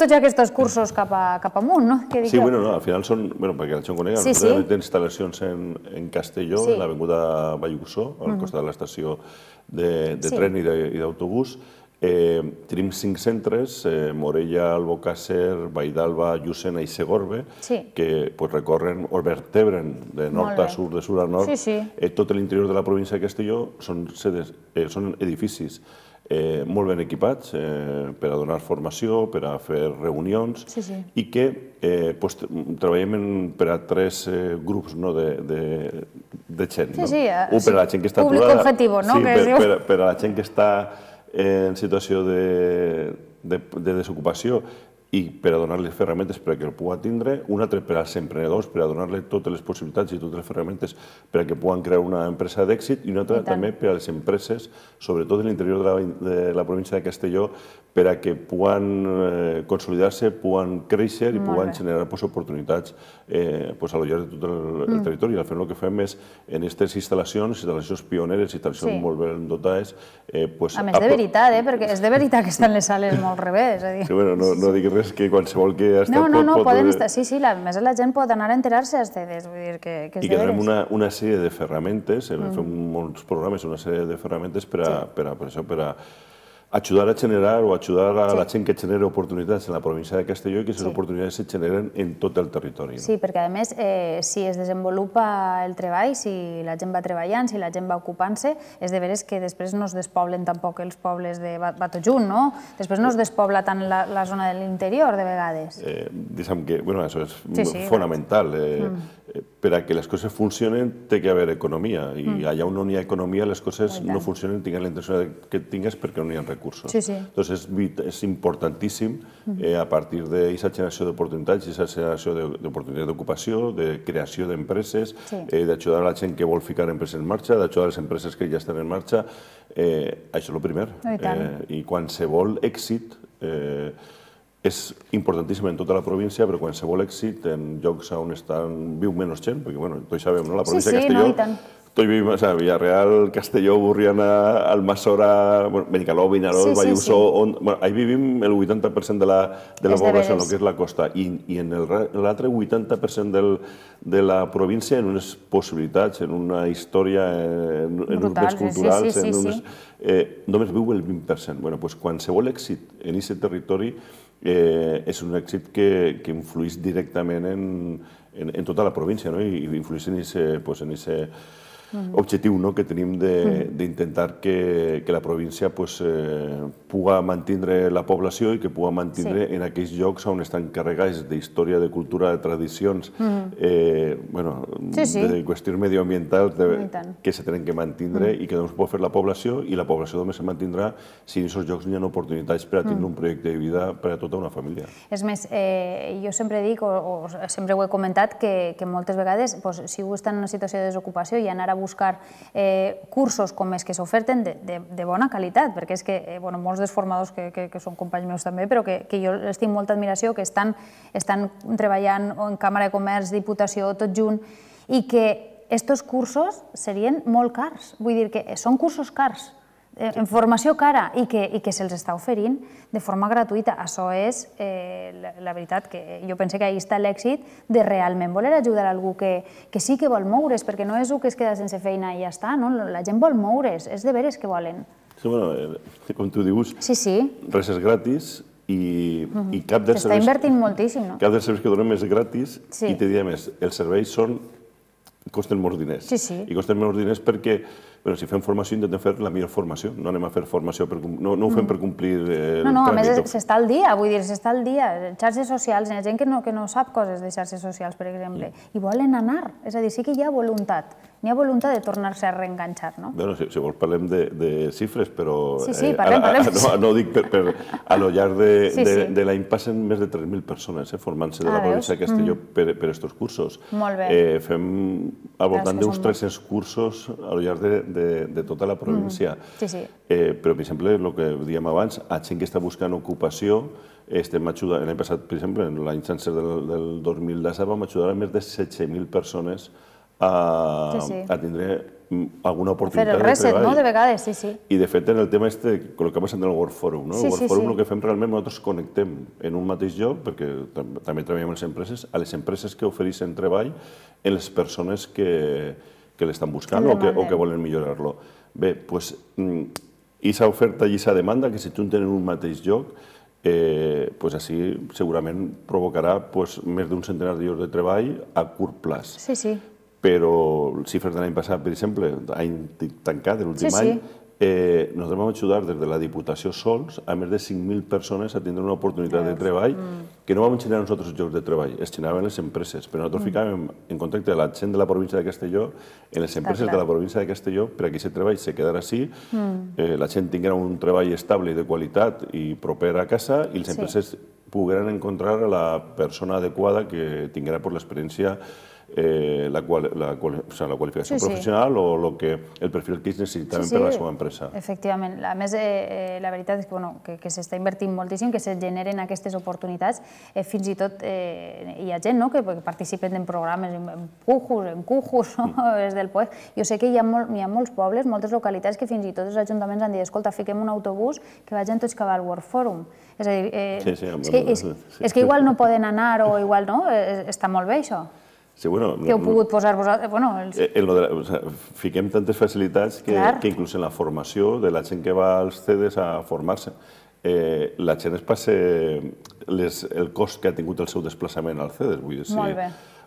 tots aquests cursos cap amunt, no? Sí, bueno, al final són, perquè la gent conega, d'instal·lacions en Castelló, en l'avinguda Vallugusó, al costat de l'estació de tren i d'autobús. Tenim 5 centres, Morella, Albocàsser, Valldarba, Llucena i Segorbe, que recorren o vertebren de nord a sud, de sud a nord. Tot l'interior de la província de Castelló són edificis molt ben equipats per a donar formació, per a fer reunions i que treballem per a 3 grups de gent. Un per a la gent que està aturada, per a la gent que està en situació de desocupació i per a donar-les ferramentes perquè el pugui tindre, un altre per als emprenedors, per a donar-li totes les possibilitats i totes les ferramentes per a que puguen crear una empresa d'èxit, i un altre també per a les empreses, sobretot en l'interior de la província de Castelló, per a que puguen consolidar-se, puguen créixer i puguen generar oportunitats a lo llarg de tot el territori. Al final el que fem és, en aquestes instal·lacions pioneres, instal·lacions molt ben dotades... A més, de veritat, perquè és de veritat que estan les sales molt revés. Sí, bueno, no diguis res que qualsevol que ha estat... No, poden estar... Sí, a més la gent pot anar a enterar-se a ustedes, vull dir que és de veres. I que donem una sèrie de ferramentes, fem molts programes, una sèrie de ferramentes per a ajudar a generar o ajudar a la gent que genera oportunitats en la província de Castelló i que aquestes oportunitats se generen en tot el territori. Sí, perquè a més, si es desenvolupa el treball, si la gent va treballant, si la gent va ocupant-se, és de veres que després no es despoblen tampoc els pobles de tot junt, no? Després no es despobla tant la zona de l'interior, de vegades. Diguem que, bueno, això és fonamental. Per a que les coses funcionen té que haver economia i allà on no hi ha economia les coses no funcionen, tingues la intenció que tingues perquè no hi ha recursos. Entonces és importantíssim a partir d'aquesta generació d'oportunitats, aquesta generació d'oportunitats d'ocupació, de creació d'empreses, d'ajudar a la gent que vol ficar empreses en marxa, d'ajudar a les empreses que ja estan en marxa. Això és el primer. I qualsevol èxit és importantíssim en tota la província, però qualsevol èxit en llocs on viu menys gent, perquè, bueno, tots sabem, no? La província de Castelló, tots vivim a Villarreal, Castelló, Burriana, Almassora, Benicaló, Vinaròs, Vallúso, ahí vivim el 80% de la població, el que és la costa, i en l'altre 80% de la província en unes possibilitats, en una història, en uns béns culturals, només viu el 20%. Doncs qualsevol èxit en aquest territori és un èxit que influeix directament en tota la província i influeix en aquest objectiu que tenim d'intentar que la província pugui mantenir la població i que pugui mantenir en aquells llocs on estan carregats d'història, de cultura, de tradicions, de qüestions medioambientals que se tenen que mantenir i que només pot fer la població, i la població només se mantindrà si en aquests llocs hi ha oportunitats per a tenir un projecte de vida per a tota una família. És més, jo sempre dic, o sempre ho he comentat, que moltes vegades, si algú està en una situació de desocupació i anar a buscar cursos com els que s'oferten de bona qualitat, perquè és que molts dels formadors que són companys meus també, però que jo els tinc molta admiració, que estan treballant en Càmera de Comerç, Diputació, tot junt, i que aquests cursos serien molt cars. Vull dir que són cursos cars, en formació cara, i que se'ls està oferint de forma gratuïta. Això és, la veritat, que jo penso que ahí està l'èxit de realment voler ajudar algú que sí que vol moure's, perquè no és un que es queda sense feina i ja està, la gent vol moure's, és de veres que volen. Sí, bueno, com tu dius, res és gratis i cap dels serveis... S'està invertint moltíssim, no? Cap dels serveis que donem és gratis i te diré més, els serveis costen molts diners. I costen molts diners perquè, si fem formació, intentem fer la millor formació. No anem a fer formació, no ho fem per complir el tràmit. No, a més s'està al dia, vull dir, s'està al dia. Xarxes socials, hi ha gent que no sap coses de xarxes socials, per exemple, i volen anar. És a dir, sí que hi ha voluntat. N'hi ha voluntat de tornar-se a reenganxar, no? Bé, si vols parlem de xifres, però... Sí, parlem. No ho dic a lo llarg de l'any passen més de 3.000 persones formant-se de la província de Castelló per aquests cursos. Molt bé. Fem al voltant d'uns 300 cursos a lo llarg de tota la província. Però, per exemple, el que dèiem abans, a gent que està buscant ocupació, estem ajudant, l'any passat, per exemple, l'any sencer del 2017, vam ajudar a més de 16.000 persones a tindre alguna oportunitat de treball. Fer el reset, no?, de vegades, sí. I, de fet, en el tema el que ha passat en el World Forum, no? El World Forum el que fem realment, nosaltres connectem en un mateix lloc, perquè també treballem amb les empreses, a les empreses que ofereixen treball en les persones que l'estan buscant o que volen millorar-lo. Bé, doncs, aquesta oferta i aquesta demanda que se junten en un mateix lloc, així segurament provocarà més d'un centenar de llocs de treball a curt plaç. Sí. Però les xifres de l'any passat, per exemple, any tancat, l'últim any, nosaltres vam ajudar des de la Diputació sols a més de 5.000 persones a tindre una oportunitat de treball que no vam generar nosaltres llocs de treball, es generaven les empreses, però nosaltres ficàvem en contacte de la gent de la província de Castelló en les empreses de la província de Castelló per a que aquest treball se quedara així, la gent tinguera un treball estable i de qualitat i proper a casa i les empreses pogueren encontrar a la persona adequada que tinguera l'experiència, la qualificació professional o el perfil que ells necessitaven per a la seva empresa. Efectivament. A més, la veritat és que s'està invertint moltíssim, que se generen aquestes oportunitats. Fins i tot hi ha gent que participen en programes, en Cujus, des del POE. Jo sé que hi ha molts pobles, moltes localitats que fins i tot els ajuntaments han dit escolta, fiquem un autobús que vagin tots cap al World Forum. És a dir, és que igual no poden anar o igual no, està molt bé això. Que heu pogut posar vosaltres... Fiquem tantes facilitats que inclús en la formació de la gent que va als CEDES a formar-se, la gent es passa el cost que ha tingut el seu desplaçament al CEDES. Vull dir, si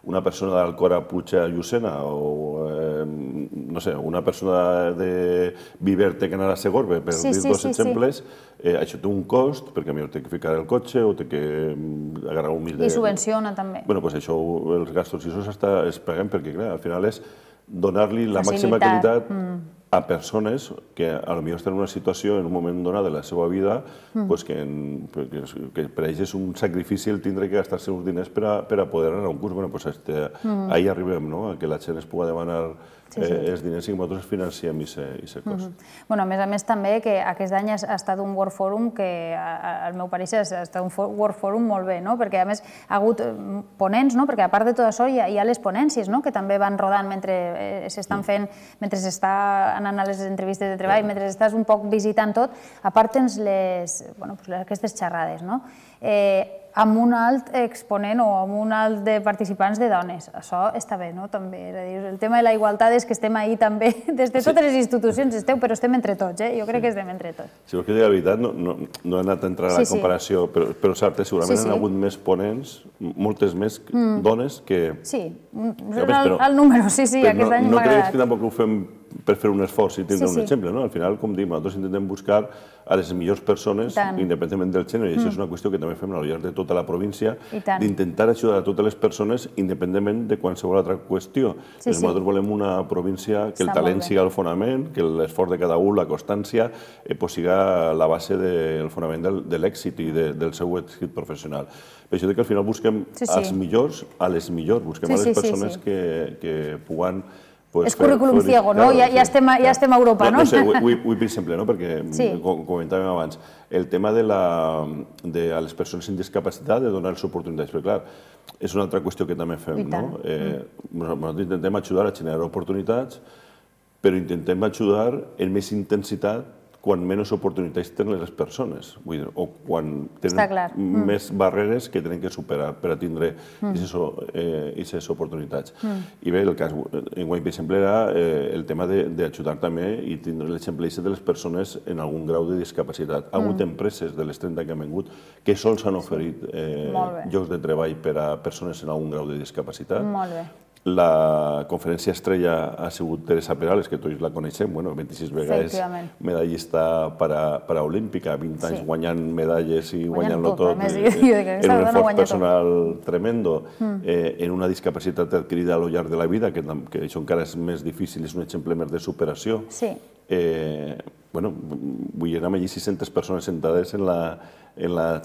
una persona d'Alcora puja a Llucena o, no sé, una persona de Viver té que anar a Segorbe, per dir dos exemples, això té un cost, perquè a mi té que ficar el cotxe o té que agarrar un mil de... I subvenciona també. Bé, doncs això, els gastos i això es paguen perquè, clar, al final és donar-li la màxima qualitat a persones que potser estan en una situació en un moment donat de la seva vida que per ells és un sacrifici el tindre que gastar-se uns diners per a poder anar a un curs. Bé, doncs ahí arribem, que la gent es pugui demanar els diners i que nosaltres financiem aquest cost. A més també que aquest any ha estat un World Forum que, al meu parer, ha estat un World Forum molt bé, perquè a més ha hagut ponents, perquè a part de tot això hi ha les ponències que també van rodant mentre s'estan fent, mentre s'està anant a les entrevistes de treball, mentre estàs un poc visitant tot, a part tens aquestes xerrades, amb un alt exponent o amb un alt de participants de dones. Això està bé, també. El tema de la igualtat és que estem ahí també, des de totes les institucions esteu, però estem entre tots, jo crec que estem entre tots. Si vols que digui la veritat, no he anat a entrar a la comparació, però segurament han hagut més ponents, moltes més dones que... Sí, el número, sí, aquest any m'ha agradat. No creguis que tampoc ho fem per fer un esforç i tindre un exemple, no? Al final, com dic, nosaltres intentem buscar a les millors persones, independentment del gènere, i això és una qüestió que també fem al llarg de tota la província, d'intentar ajudar a totes les persones independentment de qualsevol altra qüestió. Nosaltres volem una província que el talent sigui el fonament, que l'esforç de cada un, la constància, sigui la base del fonament de l'èxit i del seu èxit professional. Per això que al final busquem als millors, a les millors, busquem a les persones que puguen... És currículum ciego, no? Ja estem a Europa, no? No sé, vull per exemple, perquè comentàvem abans, el tema de les persones amb discapacitat, de donar-los oportunitats, perquè clar, és una altra qüestió que també fem, no? Nosaltres intentem ajudar a generar oportunitats, però intentem ajudar en més intensitat quan menys oportunitats tenen les persones, o quan tenen més barreres que tenen que superar per a tindre aquestes oportunitats. I bé, el cas, enguany, per exemple, era el tema d'ajudar també i tindre l'exemple de les persones en algun grau de discapacitat. Ha hagut empreses de les 30 que han vingut que sols han oferit llocs de treball per a persones en algun grau de discapacitat. Molt bé. La conferència estrella ha sigut Teresa Perales, que tots la coneixem, 26 vegades medallista paraolímpica, 20 anys guanyant medalles i guanyant-lo tot, en un esforç personal tremendo, en una discapacitat adquirida a lo llarg de la vida, que això encara és més difícil, és un exemple més de superació. Vull dir, érem allí 600 persones sentades en la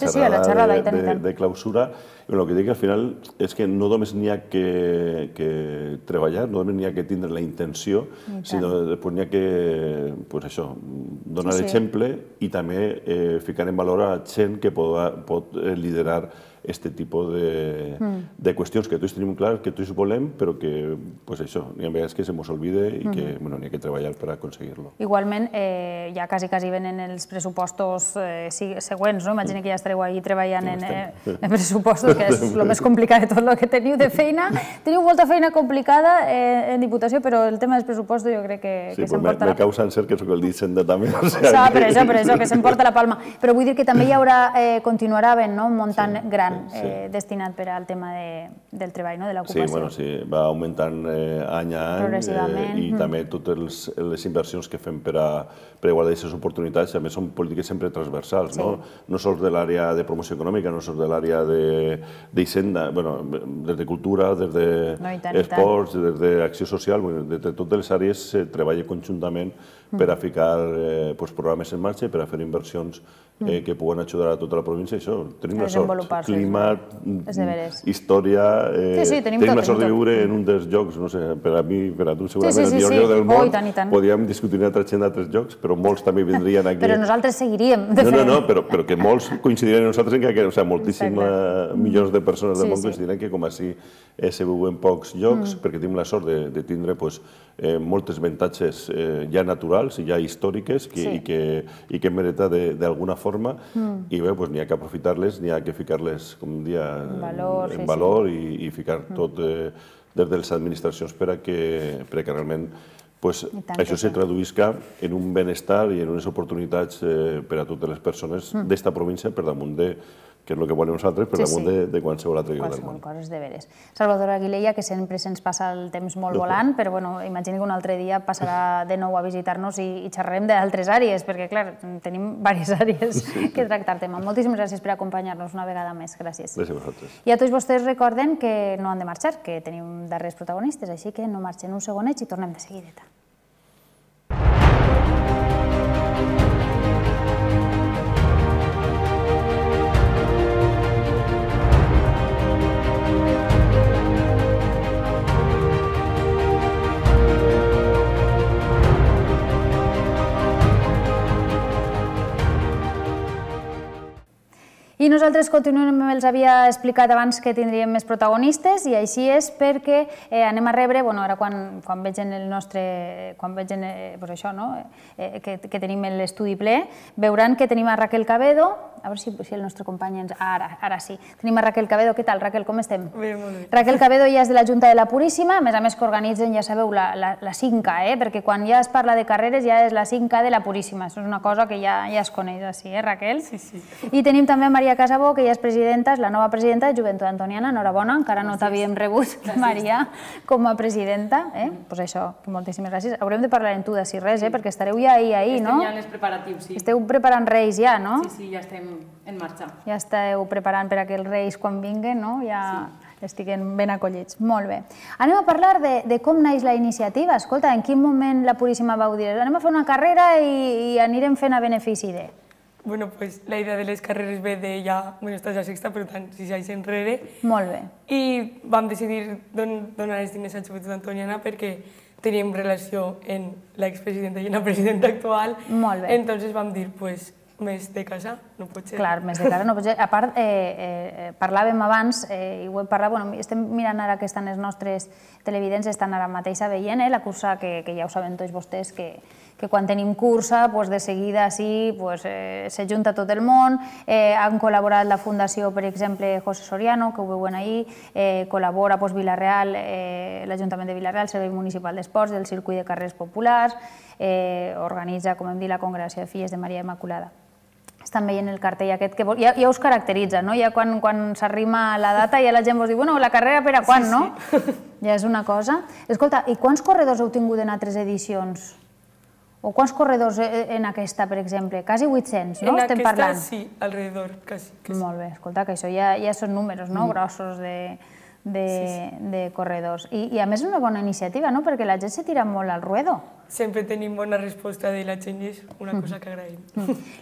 xerrada de clausura. El que dic al final és que no només n'hi ha que treballar, no només n'hi ha que tindre la intenció, sinó després n'hi ha que donar l'exemple i també ficar en valor a gent que pot liderar aquest tipus de qüestions que tots tenim clar, que tots volem, però que n'hi ha vegades que se mos olvida i que n'hi ha que treballar per aconseguir-lo. Igualment, ja quasi venen els pressupostos següents, no? Imagina que ja estareu ahí treballant en pressupostos, que és el més complicat de tot el que teniu de feina. Teniu molta feina complicada en Diputació, però el tema dels pressupostos jo crec que s'emporta la palma. Me causa encert que soc el d'Hisenda també. Per això, que s'emporta la palma. Però vull dir que també hi haurà, continuarà havent, muntant gran, gran destinat per al tema del treball, de l'ocupació. Sí, va augmentant any a any i també totes les inversions que fem per a igualar aquestes oportunitats, també són polítiques sempre transversals, no sols de l'àrea de promoció econòmica, no sols de l'àrea d'Hisenda, des de cultura, des d'esports, des d'acció social, des de totes les àrees se treballa conjuntament per a ficar programes en marxa i per a fer inversions que puguen ajudar a tota la província. Això, tenim la sort. Climat, història... Tenim la sort de viure en un dels llocs, no sé, per a mi, per a tu, segurament el millor lloc del món. Podríem discutir una altra gent d'altres llocs, però molts també vindrien aquí. Però nosaltres seguiríem, de fet. No, però que molts coincidiran amb nosaltres en que moltíssims milions de persones del món coincidiran que com així se viu en pocs llocs, perquè tenim la sort de tindre moltes avantatges ja naturals i ja històriques i que hem heretat d'alguna forma i bé, n'hi ha que aprofitar-les, n'hi ha que ficar-les, com dia, en valor i ficar tot des de les administracions per a que realment això se traduïsca en un benestar i en unes oportunitats per a totes les persones d'esta província per damunt de que és el que volem nosaltres, per damunt de qualsevol altre lloc del món. Qualsevol cosa és de veres. Salvador Aguilella, que sempre se'ns passa el temps molt volant, però imagini que un altre dia passarà de nou a visitar-nos i xerrarem d'altres àrees, perquè, clar, tenim diverses àrees que tractar tema. Moltíssimes gràcies per acompanyar-nos una vegada més. Gràcies. Gràcies a vosaltres. I a tots vostès recorden que no han de marxar, que tenim darrers protagonistes, així que no marxen un segonet i tornem de seguideta. I nosaltres continuem, els havia explicat abans que tindríem més protagonistes i així és perquè anem a rebre, ara quan veig en el nostre, quan veig això, que tenim l'estudi ple, veuran que tenim a Raquel Cabedo, a veure si el nostre company ens... Ara sí. Tenim a Raquel Cabedo. Què tal, Raquel? Com estem? Bé, molt bé. Raquel Cabedo ja és de la Junta de la Puríssima, a més que organitzen, ja sabeu, la 5K, perquè quan ja es parla de carreres ja és la 5K de la Puríssima. Això és una cosa que ja es coneix així, Raquel? Sí, sí. I tenim també a Maria Casabó, que ja és presidenta, és la nova presidenta de Joventut Antoniana. Enhorabona, encara no t'havíem rebut, Maria, com a presidenta. Doncs això, moltíssimes gràcies. Haurem de parlar en tu de si res, perquè estareu ja ahir, no? Estem ja en els preparatius, sí. Esteu preparant Reis ja, no? Sí, sí, ja estem en marxa. Ja esteu preparant per a que els Reis, quan vinguen, ja estiguen ben acollits. Molt bé. Anem a parlar de com naix la iniciativa. Escolta, en quin moment la Puríssima vau dir anem a fer una carrera i anirem fent a benefici de... Bueno, pues la idea de les carreres ve de ja... Bueno, esta és la sexta, per tant, 6 anys enrere. Molt bé. I vam decidir donar els diners a Joventut Antoniana perquè teníem relació en l'expresidenta i en la presidenta actual. Molt bé. Entonces vam dir, pues, més de casa no pot ser. Clar, més de casa no pot ser. A part, parlàvem abans, i ho hem parlat, estem mirant ara que estan els nostres televidents, estan ara mateix veient la cursa que ja ho saben tots vostès, que quan tenim cursa, de seguida sí, s'ajunta tot el món. Han col·laborat la Fundació, per exemple, José Soriano, que ho veuen ahir, col·labora Vilareal, l'Ajuntament de Vilareal, el Servei Municipal d'Esports, el Circuit de Carrers Populars, organitza, com hem dit, la Congregació de Filles de Maria Immaculada. Estan veient el cartell aquest que ja us caracteritza, no? Ja quan s'arrima la data ja la gent vos diu, bueno, la carrera per a quan, no? Ja és una cosa. Escolta, i quants corredors heu tingut en altres edicions? O quants corredors en aquesta, per exemple? Quasi 800, no? Estem parlant. En aquesta sí, alrededor, quasi. Molt bé, escolta, que això ja són números, no? Grossos de corredors. I a més és una bona iniciativa, no? Perquè la gent se tira molt al ruedo. Sempre tenim bona resposta de la gent i és una cosa que agraïm.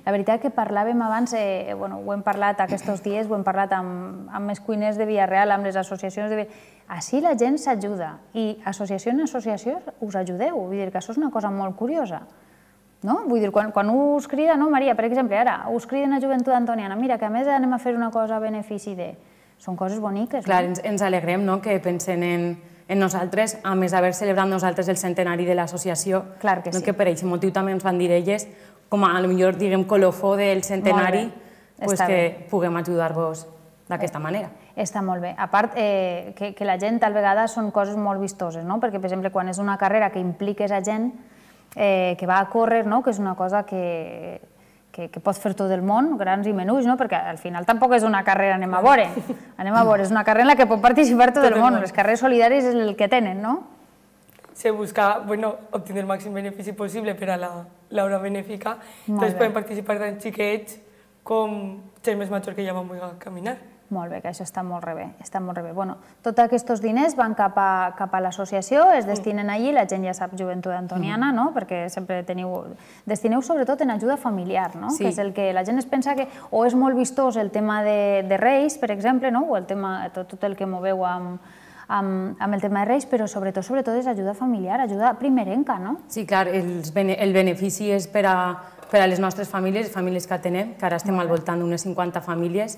La veritat que parlàvem abans, ho hem parlat aquests dies, ho hem parlat amb els cuiners de Vilareal, amb les associacions de Vilareal. Així la gent s'ajuda i associació en associació us ajudeu. Vull dir que això és una cosa molt curiosa. Vull dir, quan us crida, no, Maria, per exemple, ara, us criden a Joventut Antoniana, mira, que a més anem a fer una cosa a benefici de... Són coses boniques. Clar, ens alegrem que pensen en nosaltres, a més d'haver celebrat nosaltres el centenari de l'associació, que per aquest motiu també ens van dir elles, com a millor, diguem, colofó del centenari, que puguem ajudar-vos d'aquesta manera. Està molt bé. A part, que la gent, tal vegada, són coses molt vistoses, perquè, per exemple, quan és una carrera que impliques a gent que va a córrer, que és una cosa que pot fer tot el món, grans i menuts, perquè al final tampoc és una carrera, anem a veure, és una carrera en la que pot participar tot el món, les carreres solidàries és el que tenen, no? Se busca obtenir el màxim benefici possible per a l'obra benèfica, doncs poden participar tant xiquets com gent més major que ja van voler caminar. Molt bé, que això està molt bé, està molt bé. Bueno, tots aquests diners van cap a l'associació, es destinen allí, la gent ja sap Joventut Antoniana, no? Perquè sempre destineu sobretot en ajuda familiar, no? Que és el que la gent es pensa que o és molt vistós el tema de Reis, per exemple, o el tema, tot el que moveu amb el tema de Reis, però sobretot és ajuda familiar, ajuda primerenca, no? Sí, clar, el benefici és per a les nostres famílies, famílies que atenem, que ara estem al voltant d'unes 50 famílies,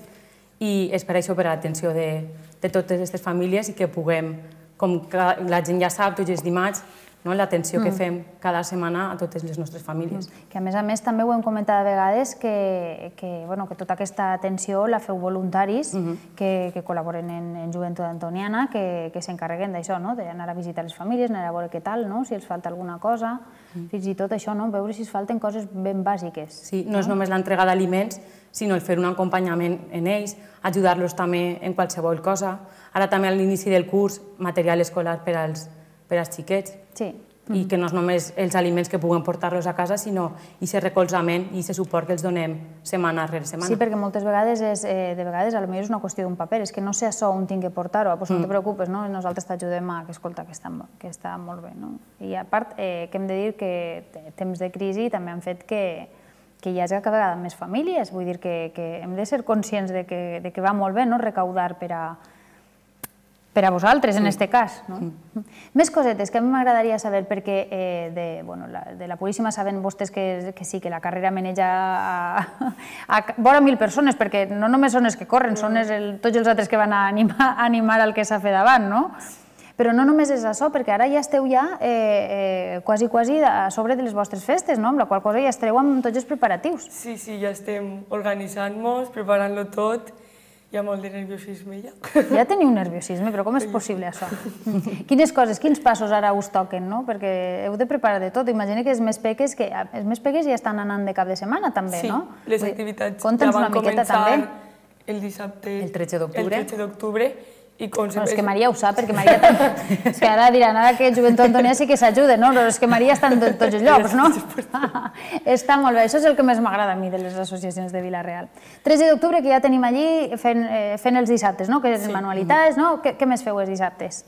i és per això, per a l'atenció de totes aquestes famílies i que puguem, com la gent ja sap, tots els dimarts, l'atenció que fem cada setmana a totes les nostres famílies. Que a més també ho hem comentat a vegades que tota aquesta atenció la feu voluntaris que col·laboren en Joventut Antoniana, que s'encarreguen d'això, d'anar a visitar les famílies, anar a veure què tal, si els falta alguna cosa, fins i tot això, veure si es falten coses ben bàsiques. Sí, no és només l'entrega d'aliments, sinó el fer un acompanyament en ells, ajudar-los també en qualsevol cosa. Ara també a l'inici del curs, material escolar per als xiquets. Sí. I que no és només els aliments que puguem portar-los a casa, sinó aquest recolzament i aquest suport que els donem setmana rere setmana. Sí, perquè moltes vegades, potser és una qüestió d'un paper, és que no sé això on tinc que portar-ho, doncs no te preocupes, nosaltres t'ajudem a que escolta, que està molt bé. I a part, que hem de dir que temps de crisi també han fet que hi hagi cada vegada més famílies, vull dir que hem de ser conscients de que va molt bé recaudar per a vosaltres, en aquest cas. Més cosetes que a mi m'agradaria saber, perquè de la Puríssima saben vostès que sí, que la carrera maneja a vora 1.000 persones, perquè no només són els que corren, són tots els altres que van a animar al que s'ha fet davant, no? Però no només és això, perquè ara ja esteu quasi a sobre de les vostres festes, amb la qual cosa ja estareu amb tots els preparatius. Sí, ja estem organitzant-nos, preparant-lo tot. Hi ha molt de nerviosisme ja. Ja teniu nerviosisme, però com és possible això? Quines coses, quins passos ara us toquen, no? Perquè heu de preparar de tot. Imagina que els més peques ja estan anant de cap de setmana també, no? Sí, les activitats ja van començar el dissabte, el 13 d'octubre. És que Maria ho sap, perquè Maria també... És que ara diran, ara que Joventut Antoniana sí que s'ajuda, no? Però és que Maria està en tots els llocs, no? Està molt bé, això és el que més m'agrada a mi de les associacions de Vila-real. 13 d'octubre, que ja tenim allí fent els dissabtes, no? Que és manualitats, no? Què més feu els dissabtes?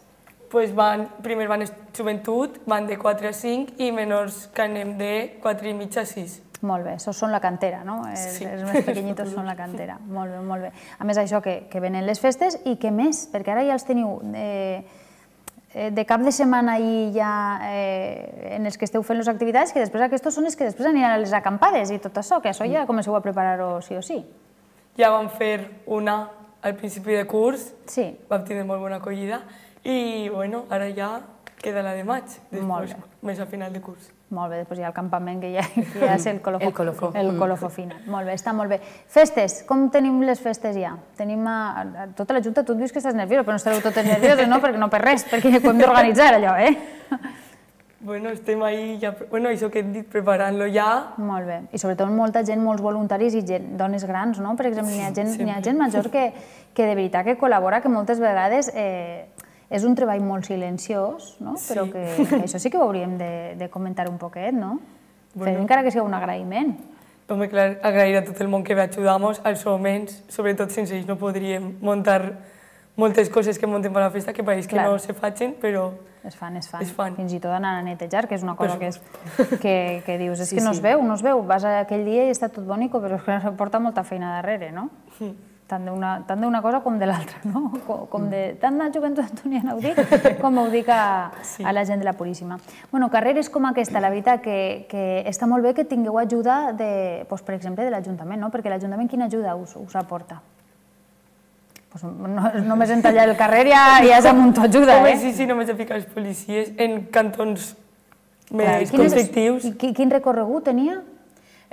Primer van Joventut, van de 4 a 5 i menors que anem de 4 i mitja a 6. Molt bé, això són la cantera, no? Els més pequeñitos són la cantera. Molt bé, molt bé. A més, això que venen les festes i què més? Perquè ara ja els teniu de cap de setmana i ja en els que esteu fent les activitats, que després aquests són els que després aniran a les acampades i tot això, que això ja comenceu a preparar-ho sí o sí. Ja vam fer una al principi de curs, vam tenir molt bona acollida i ara ja queda la de maig, més a final de curs. Molt bé, després hi ha el campament que ja és el colofó final. Molt bé, està molt bé. Festes, com tenim les festes ja? Tenim tota la junta, tu et dius que estàs nerviosa, però no estareu totes nervioses, no? Perquè no per res, perquè ho hem d'organitzar allò, Bueno, estem ahí ja, això que hem dit, preparant-lo ja. Molt bé, i sobretot molta gent, molts voluntaris i dones grans, no? Per exemple, hi ha gent major que de veritat que col·labora, que moltes vegades és un treball molt silenciós, però que això sí que ho hauríem de comentar un poquet, no? Encara que sigui un agraïment. Home, clar, agrair a tot el món que ve a ajudar-nos, als homes, sobretot sense ells no podríem muntar moltes coses que muntem per la festa, que pareix que no se facin, però es fan. Fins i tot anar a netejar, que és una cosa que dius, és que no es veu, vas aquell dia i està tot bonic, però porta molta feina darrere, no? Tant d'una cosa com de l'altra, no? Tant de Joventut Antoniana ho dic, com ho dic a la gent de la Puríssima. Bueno, carreres com aquesta, la veritat que està molt bé que tingueu ajuda, per exemple, de l'Ajuntament, no? Perquè l'Ajuntament quina ajuda us aporta? Només en tallar el carrer ja és amb un ajuda, Home, sí, només a ficar els policies en cantons més conflictius. Quin recorregut tenia?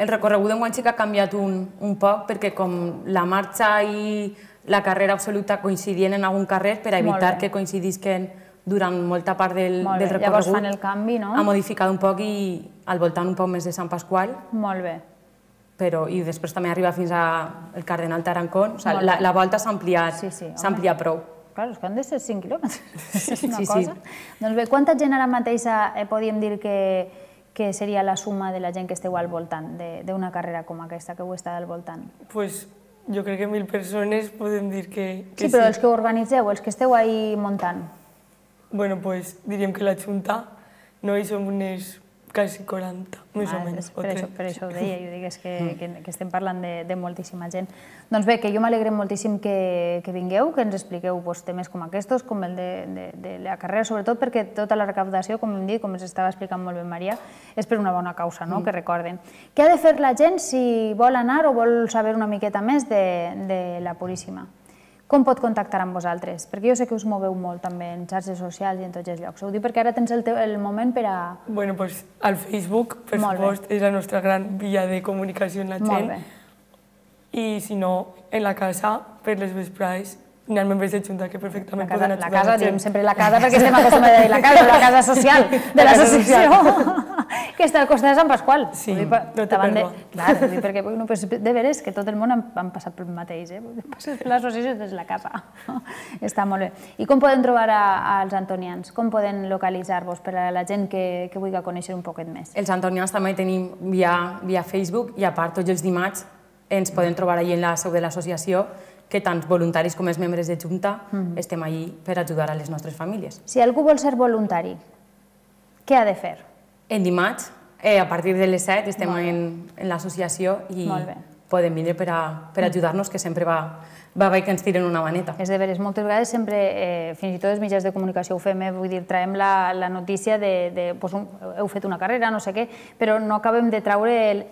El recorregut d'enguany sí que ha canviat un poc, perquè com la marxa i la carrera absoluta coincidien en algun carrer, per evitar que coincidisquen durant molta part del recorregut, llavors fan el canvi, no? Ha modificat un poc i al voltant un poc més de Sant Pasqual. Molt bé. i després també arriba fins al Cardenal Tarancón. La volta s'ha ampliat prou. Clar, és que han de ser 5 quilòmetres. És una cosa. Doncs bé, quanta gent ara mateix podríem dir que seria la suma de la gent que esteu al voltant d'una carrera com aquesta, que heu estat al voltant? Pues jo crec que 1.000 persones podem dir que sí. Sí, però els que ho organitzeu, els que esteu ahí muntant. Bueno, pues diríem que la Junta, no hi som unes quasi 40, més o menys. Per això ho deia, jo dic que estem parlant de moltíssima gent. Doncs bé, que jo m'alegrem moltíssim que vingueu, que ens expliqueu temes com aquests, com el de la carrera, sobretot perquè tota la recaptació, com hem dit, com ens estava explicant molt bé Maria, és per una bona causa, que recorden. Què ha de fer la gent si vol anar o vol saber una miqueta més de la Puríssima? Com pot contactar amb vosaltres? Perquè jo sé que us moveu molt també en xarxes socials i en tots els llocs. Ho dic perquè ara tens el moment per a... Bueno, doncs al Facebook, per supost, és la nostra gran via de comunicació amb la gent. Molt bé. I si no, en la casa, per les vesprades, hi ha membres de Junta que perfectament poden ajudar la casa, diem sempre la casa perquè estem acostumats a dir la casa social de l'associació, que està al costat de Sant Pasqual. Sí, no té pèrdua. Clar, perquè de veres que tot el món han passat pel mateix, passes per l'associació des de la casa. Està molt bé. I com poden trobar als antonians? Com poden localitzar-vos per a la gent que vulgui conèixer un poquet més? Els antonians també tenim via Facebook i a part tots els dimarts ens poden trobar allà en la seu de l'associació, que tant voluntaris com els membres de Junta estem allí per ajudar a les nostres famílies. Si algú vol ser voluntari, què ha de fer? En dimarts, a partir de les 7, estem en l'associació i podem vindre per ajudar-nos, que sempre va bé que ens tiren una maneta. És de veres, moltes vegades sempre, fins i tot els mitjans de comunicació ho fem, vull dir, traiem la notícia de heu fet una carrera, no sé què, però no acabem de traure el...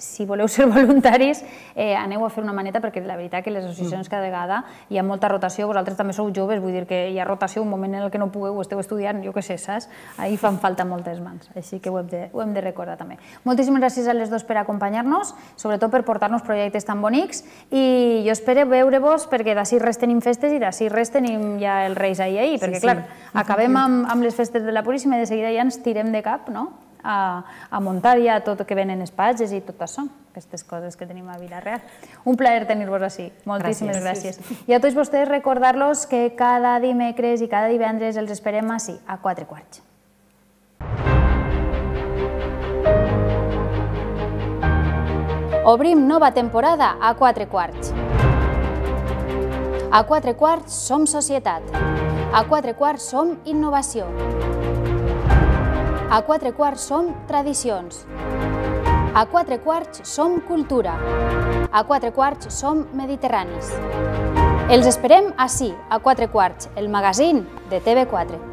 Si voleu ser voluntaris, aneu a fer una maneta, perquè la veritat que les associacions cada vegada hi ha molta rotació, vosaltres també sou joves, vull dir que hi ha rotació, un moment en el que no pugueu, esteu estudiant, jo què sé, saps? Ahir fan falta moltes mans, així que ho hem de recordar també. Moltíssimes gràcies a les dos per acompanyar-nos, sobretot per portar-nos projectes tan bonics, i jo espero veure-vos, perquè d'ací res tenim festes i d'ací res tenim ja els Reis ahir, perquè clar, acabem amb les festes de la Puríssima i de seguida ja ens tirem de cap, no?, a muntar ja tot el que venen espatges i tot això, aquestes coses que tenim a Vila-real. Un plaer tenir-vos així. Moltíssimes gràcies. I a tots vostès recordar-los que cada dimecres i cada divendres els esperem així, a 4:15. Obrim nova temporada a 4:15. A 4:15 som societat. A 4:15 som innovació. A 4:15 som tradicions. A 4:15 som cultura. A 4:15 som mediterranis. Els esperem ací, a 4:15, el magazín de TV4.